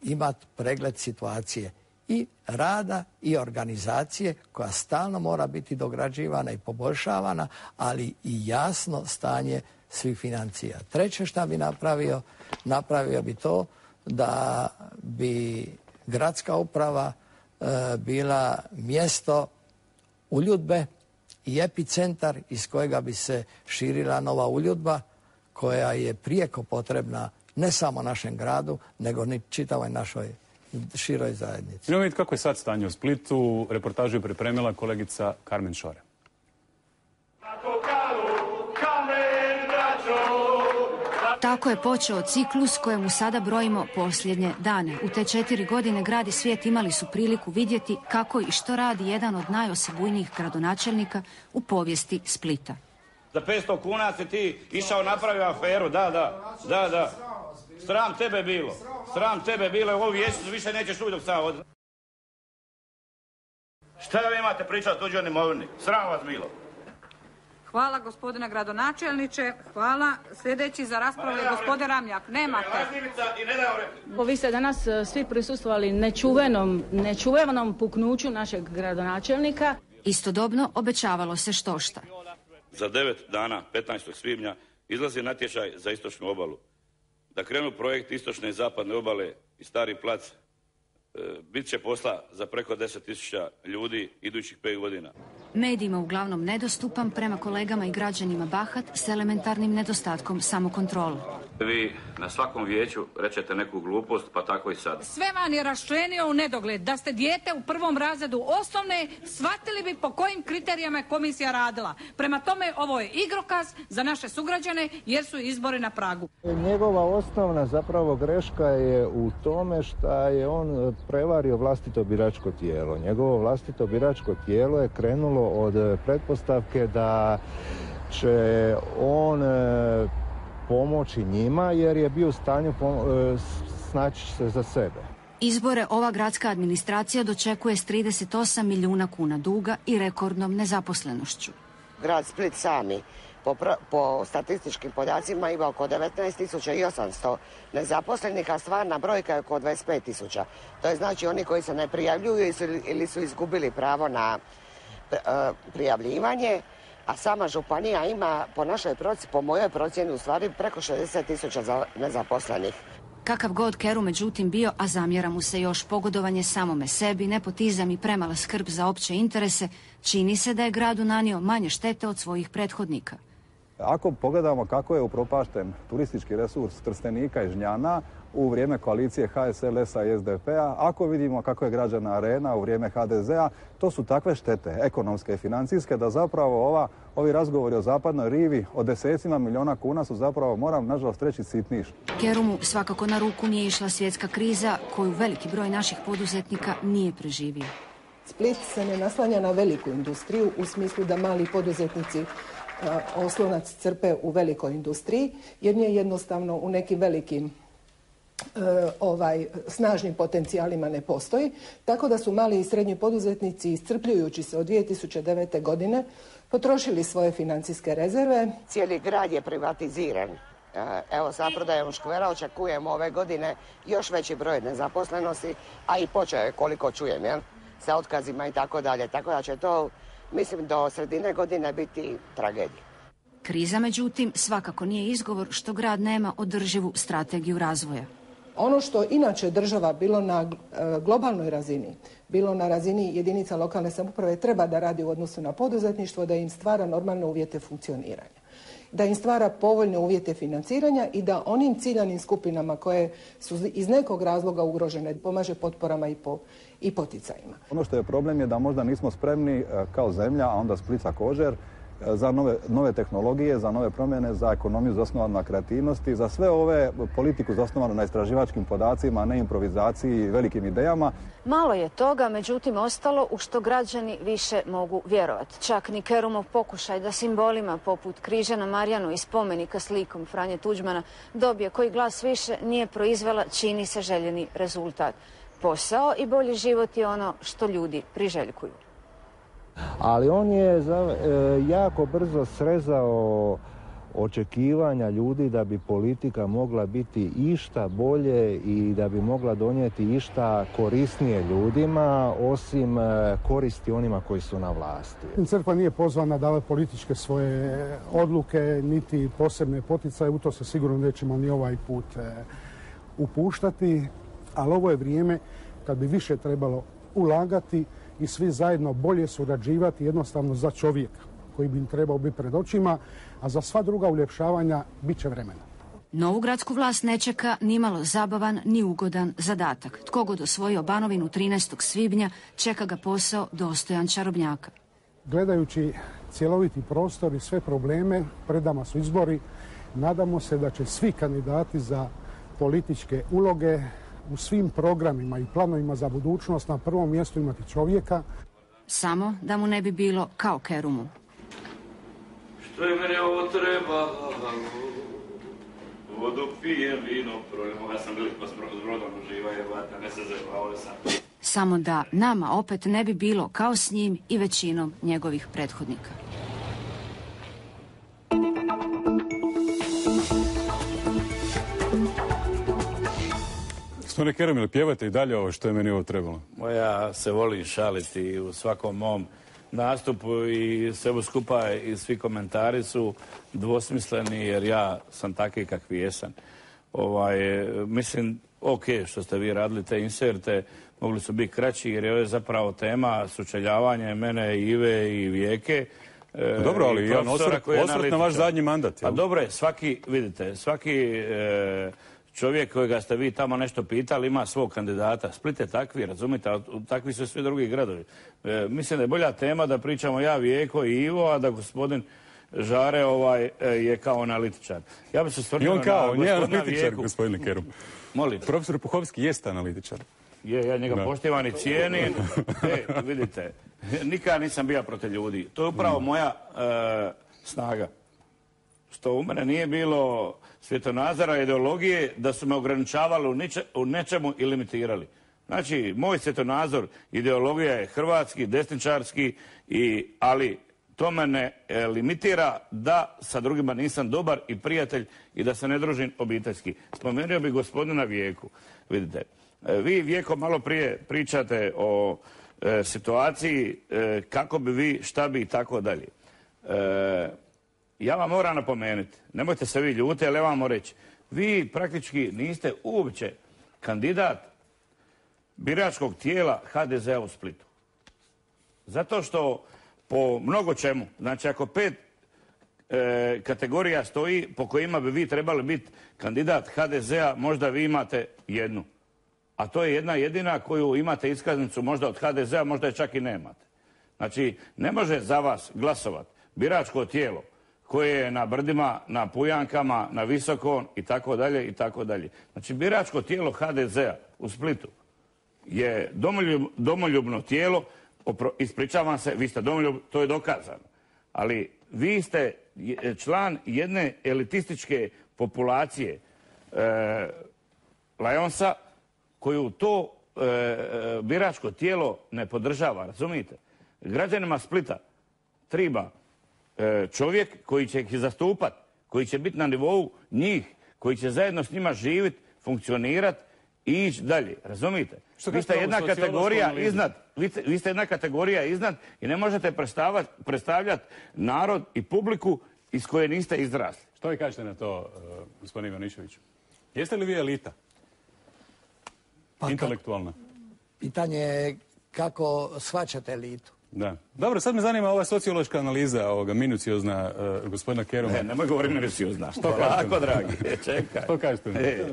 imati pregled situacije i rada i organizacije koja stalno mora biti dograđivana i poboljšavana, ali i jasno stanje svih financija. Treće što bi napravio bi to da bi gradska uprava bila mjesto uljudbe i epicentar iz kojega bi se širila nova uljudba koja je prijeko potrebna ne samo našem gradu, nego ni čitavoj našoj široj zajednici. Idemo vidjeti kako je sad stanje u Splitu. Reportažu je pripremila kolegica Karmen Šore. Tako je počeo ciklus kojemu sada brojimo posljednje dane. U te 4 godine grad i svijet imali su priliku vidjeti kako i što radi jedan od najosebujnijih gradonačelnika u povijesti Splita. Za 500 kuna si ti išao napravio aferu, da. Sram tebe bilo. Sram tebe bilo, ovu vječicu više nećeš čuti dok sam od... Šta vi imate pričati o tuđoj imovini? Sram vas bilo. Hvala gospodine gradonačelniče, hvala. Sljedeći za raspravu je gospodin Ramljak. Nemate. Vi ste danas svi prisustvovali nečuvenom puknuću našeg gradonačelnika. Istodobno obećavalo se štošta. Za 9 dana, 15. svibnja, izlazi natječaj za istočnu obalu. Da krenu projekt istočne i zapadne obale i Stari plac, bit će posla za preko 10.000 ljudi idućih 5 godina. Medijima uglavnom nedostupan, prema kolegama i građanima bahat s elementarnim nedostatkom samokontrole. Vi na svakom vijeću rečete neku glupost, pa tako i sad. Sve vam je raščlenio u nedogled. Da ste dijete u 1. razredu osnovne, shvatili bi po kojim kriterijama je komisija radila. Prema tome, ovo je igrokaz za naše sugrađane jer su izbori na pragu. Njegova osnovna zapravo greška je u tome što je on prevario vlastito biračko tijelo. Njegovo vlastito biračko tijelo je krenulo od pretpostavke da će on pomoći njima jer je bio u stanju snaći se za sebe. Izbore ova gradska administracija dočekuje s 38 milijuna kuna duga i rekordnom nezaposlenošću. Grad Split sami po statističkim podacima ima oko 19.800 nezaposlenih, a stvarna brojka je oko 25.000. To je znači oni koji se ne prijavljuju ili su izgubili pravo na prijavljivanje, a sama županija ima po mojoj procjeni u stvari preko 60.000 nezaposlenih. Kakav god Kerum međutim bio, a zamjera mu se još pogodovanje samome sebi, nepotizam i premala skrb za opće interese, čini se da je gradu nanio manje štete od svojih prethodnika. Ako pogledamo kako je upropašten turistički resurs Trstenika i Žnjana u vrijeme koalicije HSLS-a i SDP-a, ako vidimo kako je građana Arena u vrijeme HDZ-a, to su takve štete, ekonomske i financijske, da zapravo ovi razgovori o zapadnoj rivi o desecima milijuna kuna su zapravo, moram nažalost reći, sitniš. Kerumu svakako na ruku nije išla svjetska kriza koju veliki broj naših poduzetnika nije preživio. Split se ne naslanja na veliku industriju u smislu da mali poduzetnici oslonac crpe u velikoj industriji, jer nije jednostavno u nekim velikim snažnim potencijalima ne postoji, tako da su mali i srednji poduzetnici, iscrpljujući se od 2009. godine, potrošili svoje financijske rezerve. Cijeli grad je privatiziran. Evo, sa prodajom škvera očekujemo ove godine još veći broj nezaposlenosti, a i počeo je, koliko čujem, sa otkazima i tako dalje. Tako da će to, mislim, do sredine godine biti tragedija. Kriza, međutim, svakako nije izgovor što grad nema održivu strategiju razvoja. Ono što inače država, bilo na globalnoj razini, bilo na razini jedinica lokalne samouprave, treba da radi u odnosu na poduzetništvo, da im stvara normalne uvjete funkcioniranja, da im stvara povoljne uvjete financiranja i da onim ciljanim skupinama koje su iz nekog razloga ugrožene pomaže potporama i poticajima. Ono što je problem je da možda nismo spremni kao zemlja, a onda Split također, za nove tehnologije, za nove promjene, za ekonomiju zasnovanu na kreativnosti, za sve ove politiku zasnovanu na istraživačkim podacima, ne improvizaciji i velikim idejama. Malo je toga, međutim, ostalo u što građani više mogu vjerovati. Čak ni Kerumov pokušaj da simbolima poput križa na Marjanu i spomenika s likom Franje Tuđmana dobije koji glas više nije proizvela, čini se, željeni rezultat. Posao i bolji život je ono što ljudi priželjkuju. Ali on je jako brzo srezao očekivanja ljudi da bi politika mogla biti išta bolje i da bi mogla donijeti išta korisnije ljudima, osim koristi onima koji su na vlasti. Crkva nije pozvana davati političke svoje odluke, niti posebne poticaje, u to se sigurno nećemo ni ovaj put upuštati, ali ovo je vrijeme kad bi više trebalo ulagati i svi zajedno bolje surađivati jednostavno za čovjeka koji bi im trebao biti pred očima, a za sva druga uljepšavanja bit će vremena. Novu gradsku vlast ne čeka ni malo zabavan ni ugodan zadatak. Tko god osvojio Banovinu 13. svibnja, čeka ga posao dostojan čarobnjaka. Gledajući cjeloviti prostor i sve probleme, pred nama su izbori. Nadamo se da će svi kandidati za političke uloge u svim programima i planovima za budućnost na prvom mjestu imati čovjeka. Samo da mu ne bi bilo kao Kerumu. Što je mene ovo treba, vodu pijem, vino projem. Ja sam veliko s brodom uživa, jebata, ne se zajebavao sam. Samo da nama opet ne bi bilo kao s njim i većinom njegovih prethodnika. Gospodine Kerum, ili pjevate i dalje ovo što je meni ovo trebalo? Ja se volim šaliti u svakom mom nastupu i sve skupa i svi komentari su dvosmisleni jer ja sam takvi kakvi jesam. Mislim, ok, što ste vi radili te inserte, mogli su biti kraći jer je ovo zapravo tema sučeljavanja mene, Ive i Vijeke. Dobro, ali jedan osvrt na vaš zadnji mandat. Pa dobro je, svaki čovjek kojega ste vi tamo nešto pitali ima svog kandidata. Split je takvi, razumite, a takvi su svi drugi gradovi. Mislim da je bolja tema da pričamo ja, Vijeko i Ivo, a da gospodin Žare je kao analitičar. Ja bi se stvrdio na gospodina Vijeku. On je analitičar, gospodine Kerum. Molim. Profesor Puhovski jeste analitičar. Ja njega poštivam i cijenim. Vidite, nikad nisam bio protiv ljudi. To je upravo moja snaga. Što u mene nije bilo svjetonazora, ideologije, da su me ograničavali u nečemu i limitirali. Znači, moj svjetonazor, ideologija je hrvatski, desničarski, ali to me ne limitira da sa drugima nisam dobar i prijatelj i da se ne družim obiteljski. Spomenuo bi gospodina Vijeku. Vidite, vi, Vijeko, malo prije pričate o situaciji, kako bi vi, šta bi i tako dalje. Ja vam moram napomenuti, nemojte se vi ljuti, ali ja vam moram reći, vi praktički niste uopće kandidat biračkog tijela HDZ-a u Splitu. Zato što po mnogo čemu, znači ako 5 kategorija stoji po kojima bi vi trebali biti kandidat HDZ-a, možda vi imate jednu. A to je jedna jedina koju imate iskaznicu možda od HDZ-a, možda je čak i nemate. Znači, ne može za vas glasovati biračko tijelo koje je na brdima, na Pujankama, na Visokom i tako dalje i tako dalje. Znači, biračko tijelo HDZ-a u Splitu je domoljubno tijelo, ispričavam se, vi ste domoljub, to je dokazano. Ali vi ste član jedne elitističke populacije Lajonsa koju to biračko tijelo ne podržava, razumijete? Građanima Splita treba čovjek koji će ih zastupati, koji će biti na nivou njih, koji će zajedno s njima živjeti, funkcionirati i ići dalje. Razumijete? Vi ste jedna kategorija iznad i ne možete predstavljati narod i publiku iz koje niste izrasli. Što vi kažete na to, gospodine Ivaniševiću? Jeste li vi elita? intelektualna? Pitanje je kako shvaćate elitu. Da. Dobro, sad me zanima ova sociološka analiza, minuciozna gospodina Keruma. Ne, nemoj govoriti minuciozna. Polako, dragi, čekaj. Što kažete?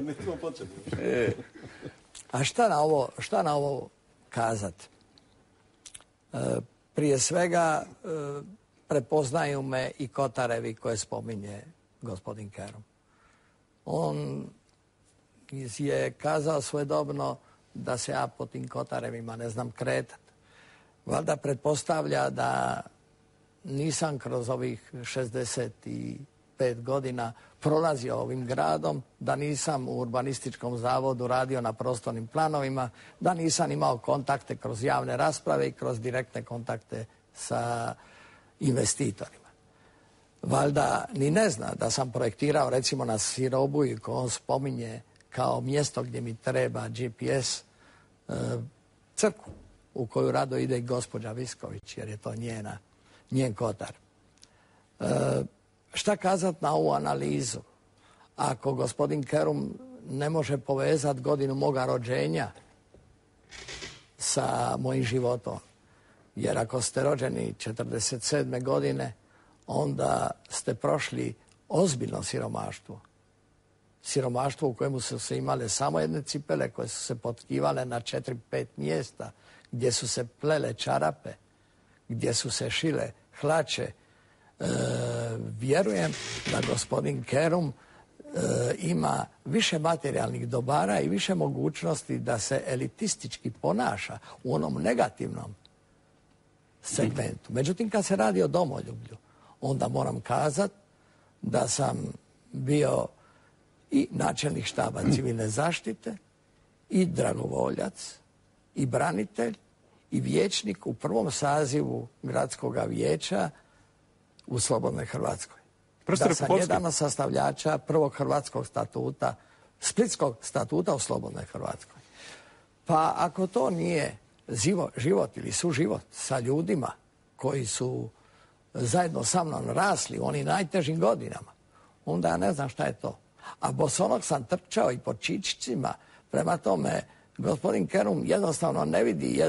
A šta na ovo kazati? Prije svega prepoznaju me i Kotarevi koje spominje gospodin Kerum. On je kazao svojedobno da se ja po tim Kotarevima ne znam kretati. Valjda pretpostavlja da nisam kroz ovih 65 godina prolazio ovim gradom, da nisam u urbanističkom zavodu radio na prostornim planovima, da nisam imao kontakte kroz javne rasprave i kroz direktne kontakte sa investitorima. Valjda ni ne zna da sam projektirao recimo na Sirobuju, ko on spominje kao mjesto gdje mi treba GPS, crkvu u koju rado ide i gospođa Visković, jer je to njen Kotar. Šta kazat na ovu analizu? Ako gospodin Kerum ne može povezati godinu moga rođenja sa mojim životom, jer ako ste rođeni 47. godine, onda ste prošli ozbiljno siromaštvo. Siromaštvo u kojemu su se imale samo jedne cipele koje su se potkivale na 4-5 mjesta, gdje su se plele čarape, gdje su se šile hlače. Vjerujem da gospodin Kerum ima više materijalnih dobara i više mogućnosti da se elitistički ponaša u onom negativnom segmentu. Međutim, kad se radi o domoljublju, onda moram kazati da sam bio i načelnik štaba civilne zaštite, i dragovoljac, i branitelj, i vijećnik u prvom sazivu gradskog vijeća u Slobodnoj Hrvatskoj. Da sam jedan od sastavljača prvog hrvatskog statuta, Splitskog statuta u Slobodnoj Hrvatskoj. Pa ako to nije život ili suživot sa ljudima koji su zajedno sa mnom rasli u onim najtežim godinama, onda ja ne znam šta je to. A bosonog sam trčao i po čičićima, prema tome gospodin Kerum jednostavno ne vidi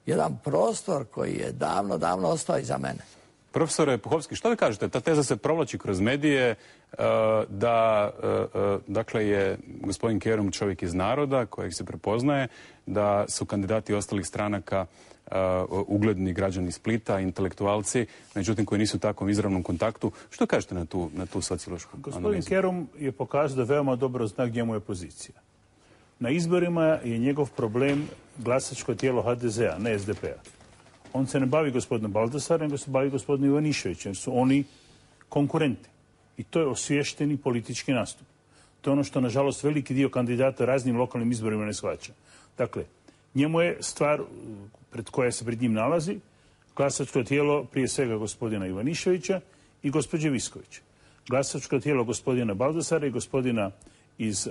jedan prostor koji je davno ostao iza mene. Profesore Puhovski, što vi kažete? Ta teza se provlači kroz medije da dakle je gospodin Kerum čovjek iz naroda kojeg se prepoznaje, da su kandidati ostalih stranaka ugledni građani Splita, intelektualci, međutim koji nisu u takvom izravnom kontaktu. Što kažete na tu sociološku analizu? Gospodin Kerum je pokazao da veoma dobro zna gdje mu je pozicija. Na izborima je njegov problem glasačko tijelo HDZ-a, ne SDP-a. On se ne bavi gospodinom Baldasarem, nego se bavi gospodinom Ivaniševićem, jer su oni konkurenti. I to je osvješteni politički nastup. To je ono što, nažalost, veliki dio kandidata raznim lokalnim izborima ne shvaća. Dakle, njemu je stvar koja se pred njim nalazi glasačko tijelo prije svega gospodina Ivaniševića i gospođe Viskovića. Glasačko tijelo gospodina Baldasara i gospodina iz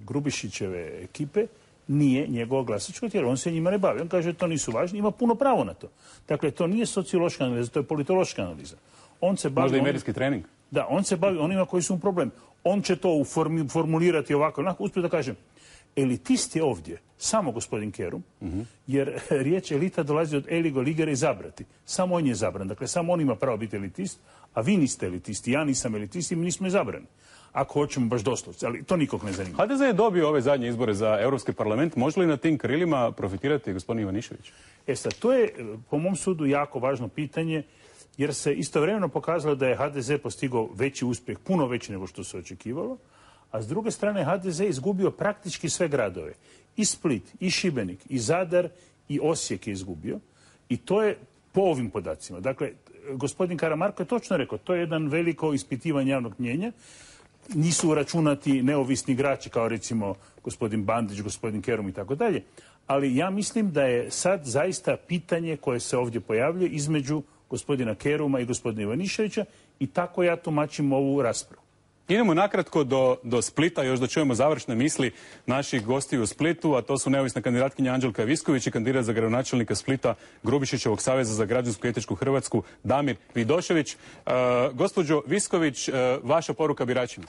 Grubišićeve ekipe nije njegovo glasačko tijelo. On se njima ne bavi. On kaže da to nisu važni. Ima puno pravo na to. Dakle, to nije sociološka analiza, to je politološka analiza. On se bavi... Možda i medijski trening? Da, on se bavi onima koji su u problem. On će to formulirati ovako. Uspio da kažem, elitist je ovdje samo gospodin Kerum, jer riječ elita dolazi od eligo ligere izabrati. Samo on je izabran. Dakle, samo on ima pravo biti elitist, a vi niste elitisti, ja nisam elitist i mi nismo izabrani. Ako hoćemo baš doslovce, ali to nikog ne zanima. HDZ je dobio ove zadnje izbore za Europski parlament. Može li na tim krilima profitirati gospodin Ivanišević? Sad, to je, po mom sudu, jako važno pitanje, jer se istovremeno pokazalo da je HDZ postigao veći uspjeh, puno veći nego što se očekivalo, a s druge strane HDZ je izgubio praktički sve gradove. I Split, i Šibenik, i Zadar, i Osijek je izgubio. I to je po ovim podacima. Dakle, gospodin Karamarko je točno rekao, to je jedan veliko ispitivanje javnog mnijenja. Nisu uračunati neovisni igrači kao recimo gospodin Bandić, gospodin Kerum i tako dalje. Ali ja mislim da je sad zaista pitanje koje se ovdje pojavljuje između gospodina Keruma i gospodina Ivaniševića i tako ja tumačim ovu raspravu. Idemo nakratko do Splita, još da čujemo završne misli naših gostiju u Splitu, a to su neovisna kandidatkinja Anđelka Visković i kandidat za gradonačelnika Splita Grubišićevog saveza za građansku i etičku Hrvatsku Damir Vidošević. Gospođo Visković, vaša poruka biračima?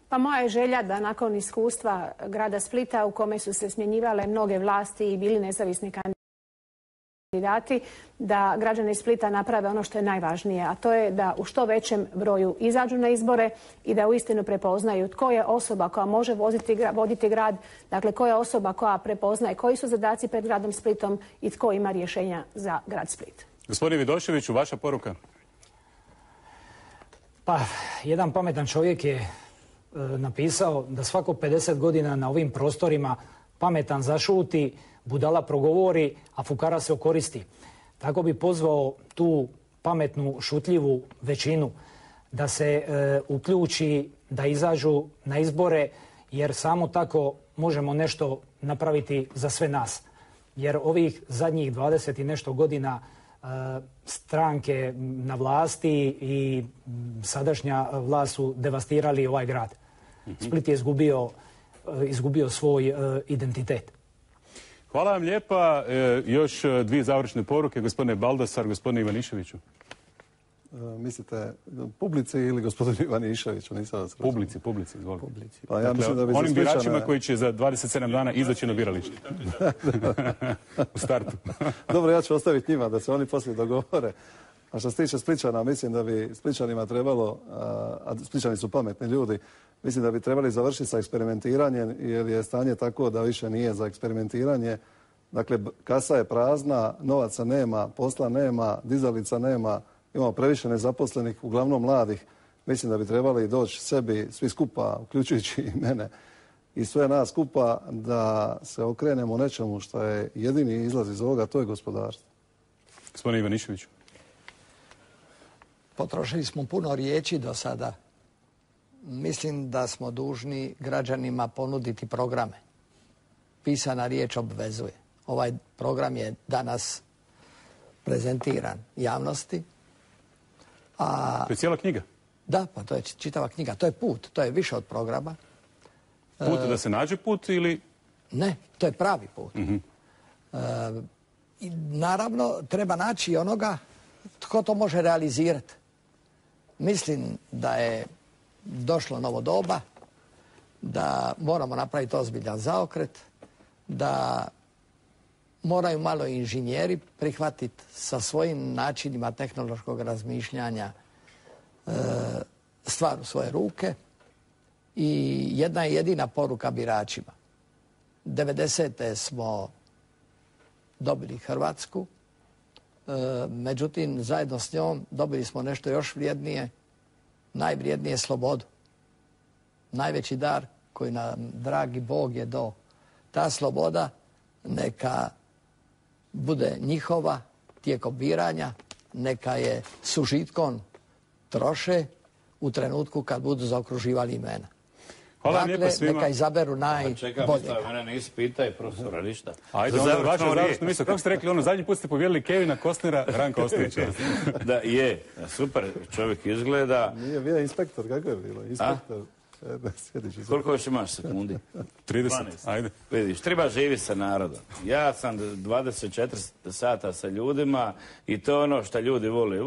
Pa moja je želja da nakon iskustva grada Splita u kome su se smjenjivale mnoge vlasti i bili nezavisni kandidati, da građani Splita naprave ono što je najvažnije, a to je da u što većem broju izađu na izbore i da uistinu prepoznaju tko je osoba koja može voditi grad, dakle koja je osoba koja prepoznaje koji su zadaci pred gradom Splitom i tko ima rješenja za grad Split. Gospodin Vidoševiću, vaša poruka? Pa, jedan pametan čovjek je napisao da svako 50 godina na ovim prostorima pametan zašuti, budala progovori, a fukara se okoristi. Tako bi pozvao tu pametnu, šutljivu većinu da se uključi, da izađu na izbore, jer samo tako možemo nešto napraviti za sve nas. Jer ovih zadnjih 20 i nešto godina stranke na vlasti i sadašnja vlast su devastirali ovaj grad. Split je izgubio svoj identitet. Hvala vam lijepa. Još dvije završne poruke, gospodine Baldasar, gospodine Ivaniševiću. Mislite publici ili gospodinu Ivaniševiću? Publici, izvolite. Pa ja mislim da bi onim biračima koji će za 27 dana izaći na biralište. U startu. Dobro, ja ću ostaviti njima da se oni poslije dogovore. A što se tiče Spličana, mislim da bi Spličanima trebalo, a Spličani su pametni ljudi, mislim da bi trebali završiti sa eksperimentiranjem, jer je stanje tako da više nije za eksperimentiranje. Dakle, kasa je prazna, novaca nema, posla nema, dizalica nema, imamo previše nezaposlenih, uglavnom mladih. Mislim da bi trebali doći sebi, svi skupa, uključujući i mene, i sve nas skupa, da se okrenemo nečemu što je jedini izlaz iz ovoga, to je gospodarstvo. Gospodin Ivaniševiću. Potrošili smo puno riječi do sada. Mislim da smo dužni građanima ponuditi programe. Pisana riječ obvezuje. Ovaj program je danas prezentiran javnosti. To je cijela knjiga? Da, pa to je čitava knjiga. To je put, to je više od programa. Put da se nađe put ili... Ne, to je pravi put. I naravno, treba naći onoga tko to može realizirati. Mislim da je došlo novo doba, da moramo napraviti ozbiljan zaokret, da moraju malo inženjeri prihvatiti sa svojim načinima tehnološkog razmišljanja stvar u svoje ruke. I jedna je jedina poruka biračima. 90. smo dobili Hrvatsku, međutim, zajedno s njom dobili smo nešto još vrijednije, najvrijednije slobodu. Najveći dar koji nam dragi Bog je dao. Ta sloboda neka bude njihova tijekom biranja, neka je s užitkom troše u trenutku kad budu zaokruživali imena. Hvala vam lijepa svima. Neka izaberu najbolje. Čekam, mene nisi pitaj profesora ništa. Ajde, onda vaša završna misla. Kako ste rekli, zadnji put ste povjerili Kevina Kostnera, Ranka Ostojića. Da, je. Super čovjek izgleda. Nije bio inspektor, kako je bilo? Inspektor. Koliko još imaš sekundi? 30, ajde. Vidiš, treba živjeti sa narodom. Ja sam 24 sata sa ljudima i to je ono što ljudi vole.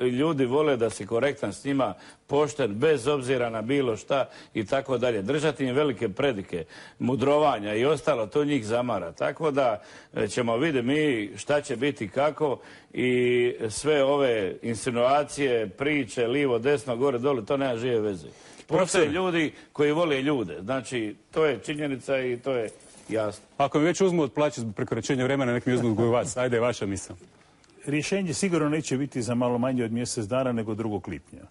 Ljudi vole da si korektan s njima, pošten, bez obzira na bilo šta i tako dalje. Držati im velike predike, mudrovanja i ostalo, to njih zamara. Tako da ćemo vidjeti mi šta će biti kako i sve ove insinuacije, priče, livo, desno, gore, dole, to nema žive veze. Postoje ljudi koji vole ljude. Znači, to je činjenica i to je jasno. Ako mi već uzmu od plaće zbog prekoračenja vremena, nek mi uzmu odgoju vas. Ajde, vaša misao. Rješenje sigurno neće biti za malo manje od mjesec dana nego 2. lipnja.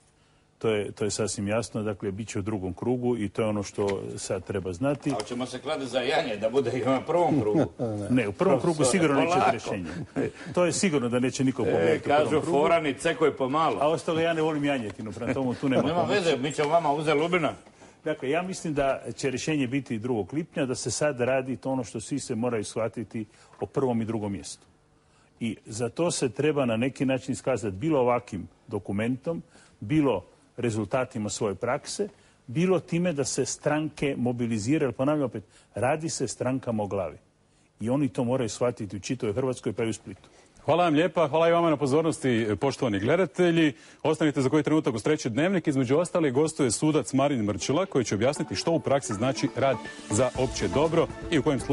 To je sasvim jasno, dakle, bit će u 2. krugu i to je ono što sad treba znati. Ali ćemo se kladi za janje da bude i na 1. krugu. Ne, u 1. krugu sigurno neće rješenje. To je sigurno da neće niko pobjediti u 1. krugu. Kažu forani cekoj pomalo. A ostalo ja ne volim janjetinu, prema tomu tu nema pomoći. Nema veze, mi ćemo vama uzeti lubina. Dakle, ja mislim da će rješenje biti 2. lipnja, da se sad radi to ono što svi se moraju shvatiti o 1. i 2. mjestu. I za to se treba na neki način iskazati bilo ovakvim dokumentom, bilo rezultatima svoje prakse, bilo time da se stranke mobiliziraju. Ponavljam opet, radi se strankama o glavi. I oni to moraju shvatiti u čitavoj Hrvatskoj pa i u Splitu. Hvala vam lijepa, hvala i vama na pozornosti, poštovani gledatelji. Ostanite za koji trenutak uz treći dnevnik. Između ostalih gostuje sudac Marin Mrčela koji će objasniti što u praksi znači rad za opće dobro i u kojim slučajevima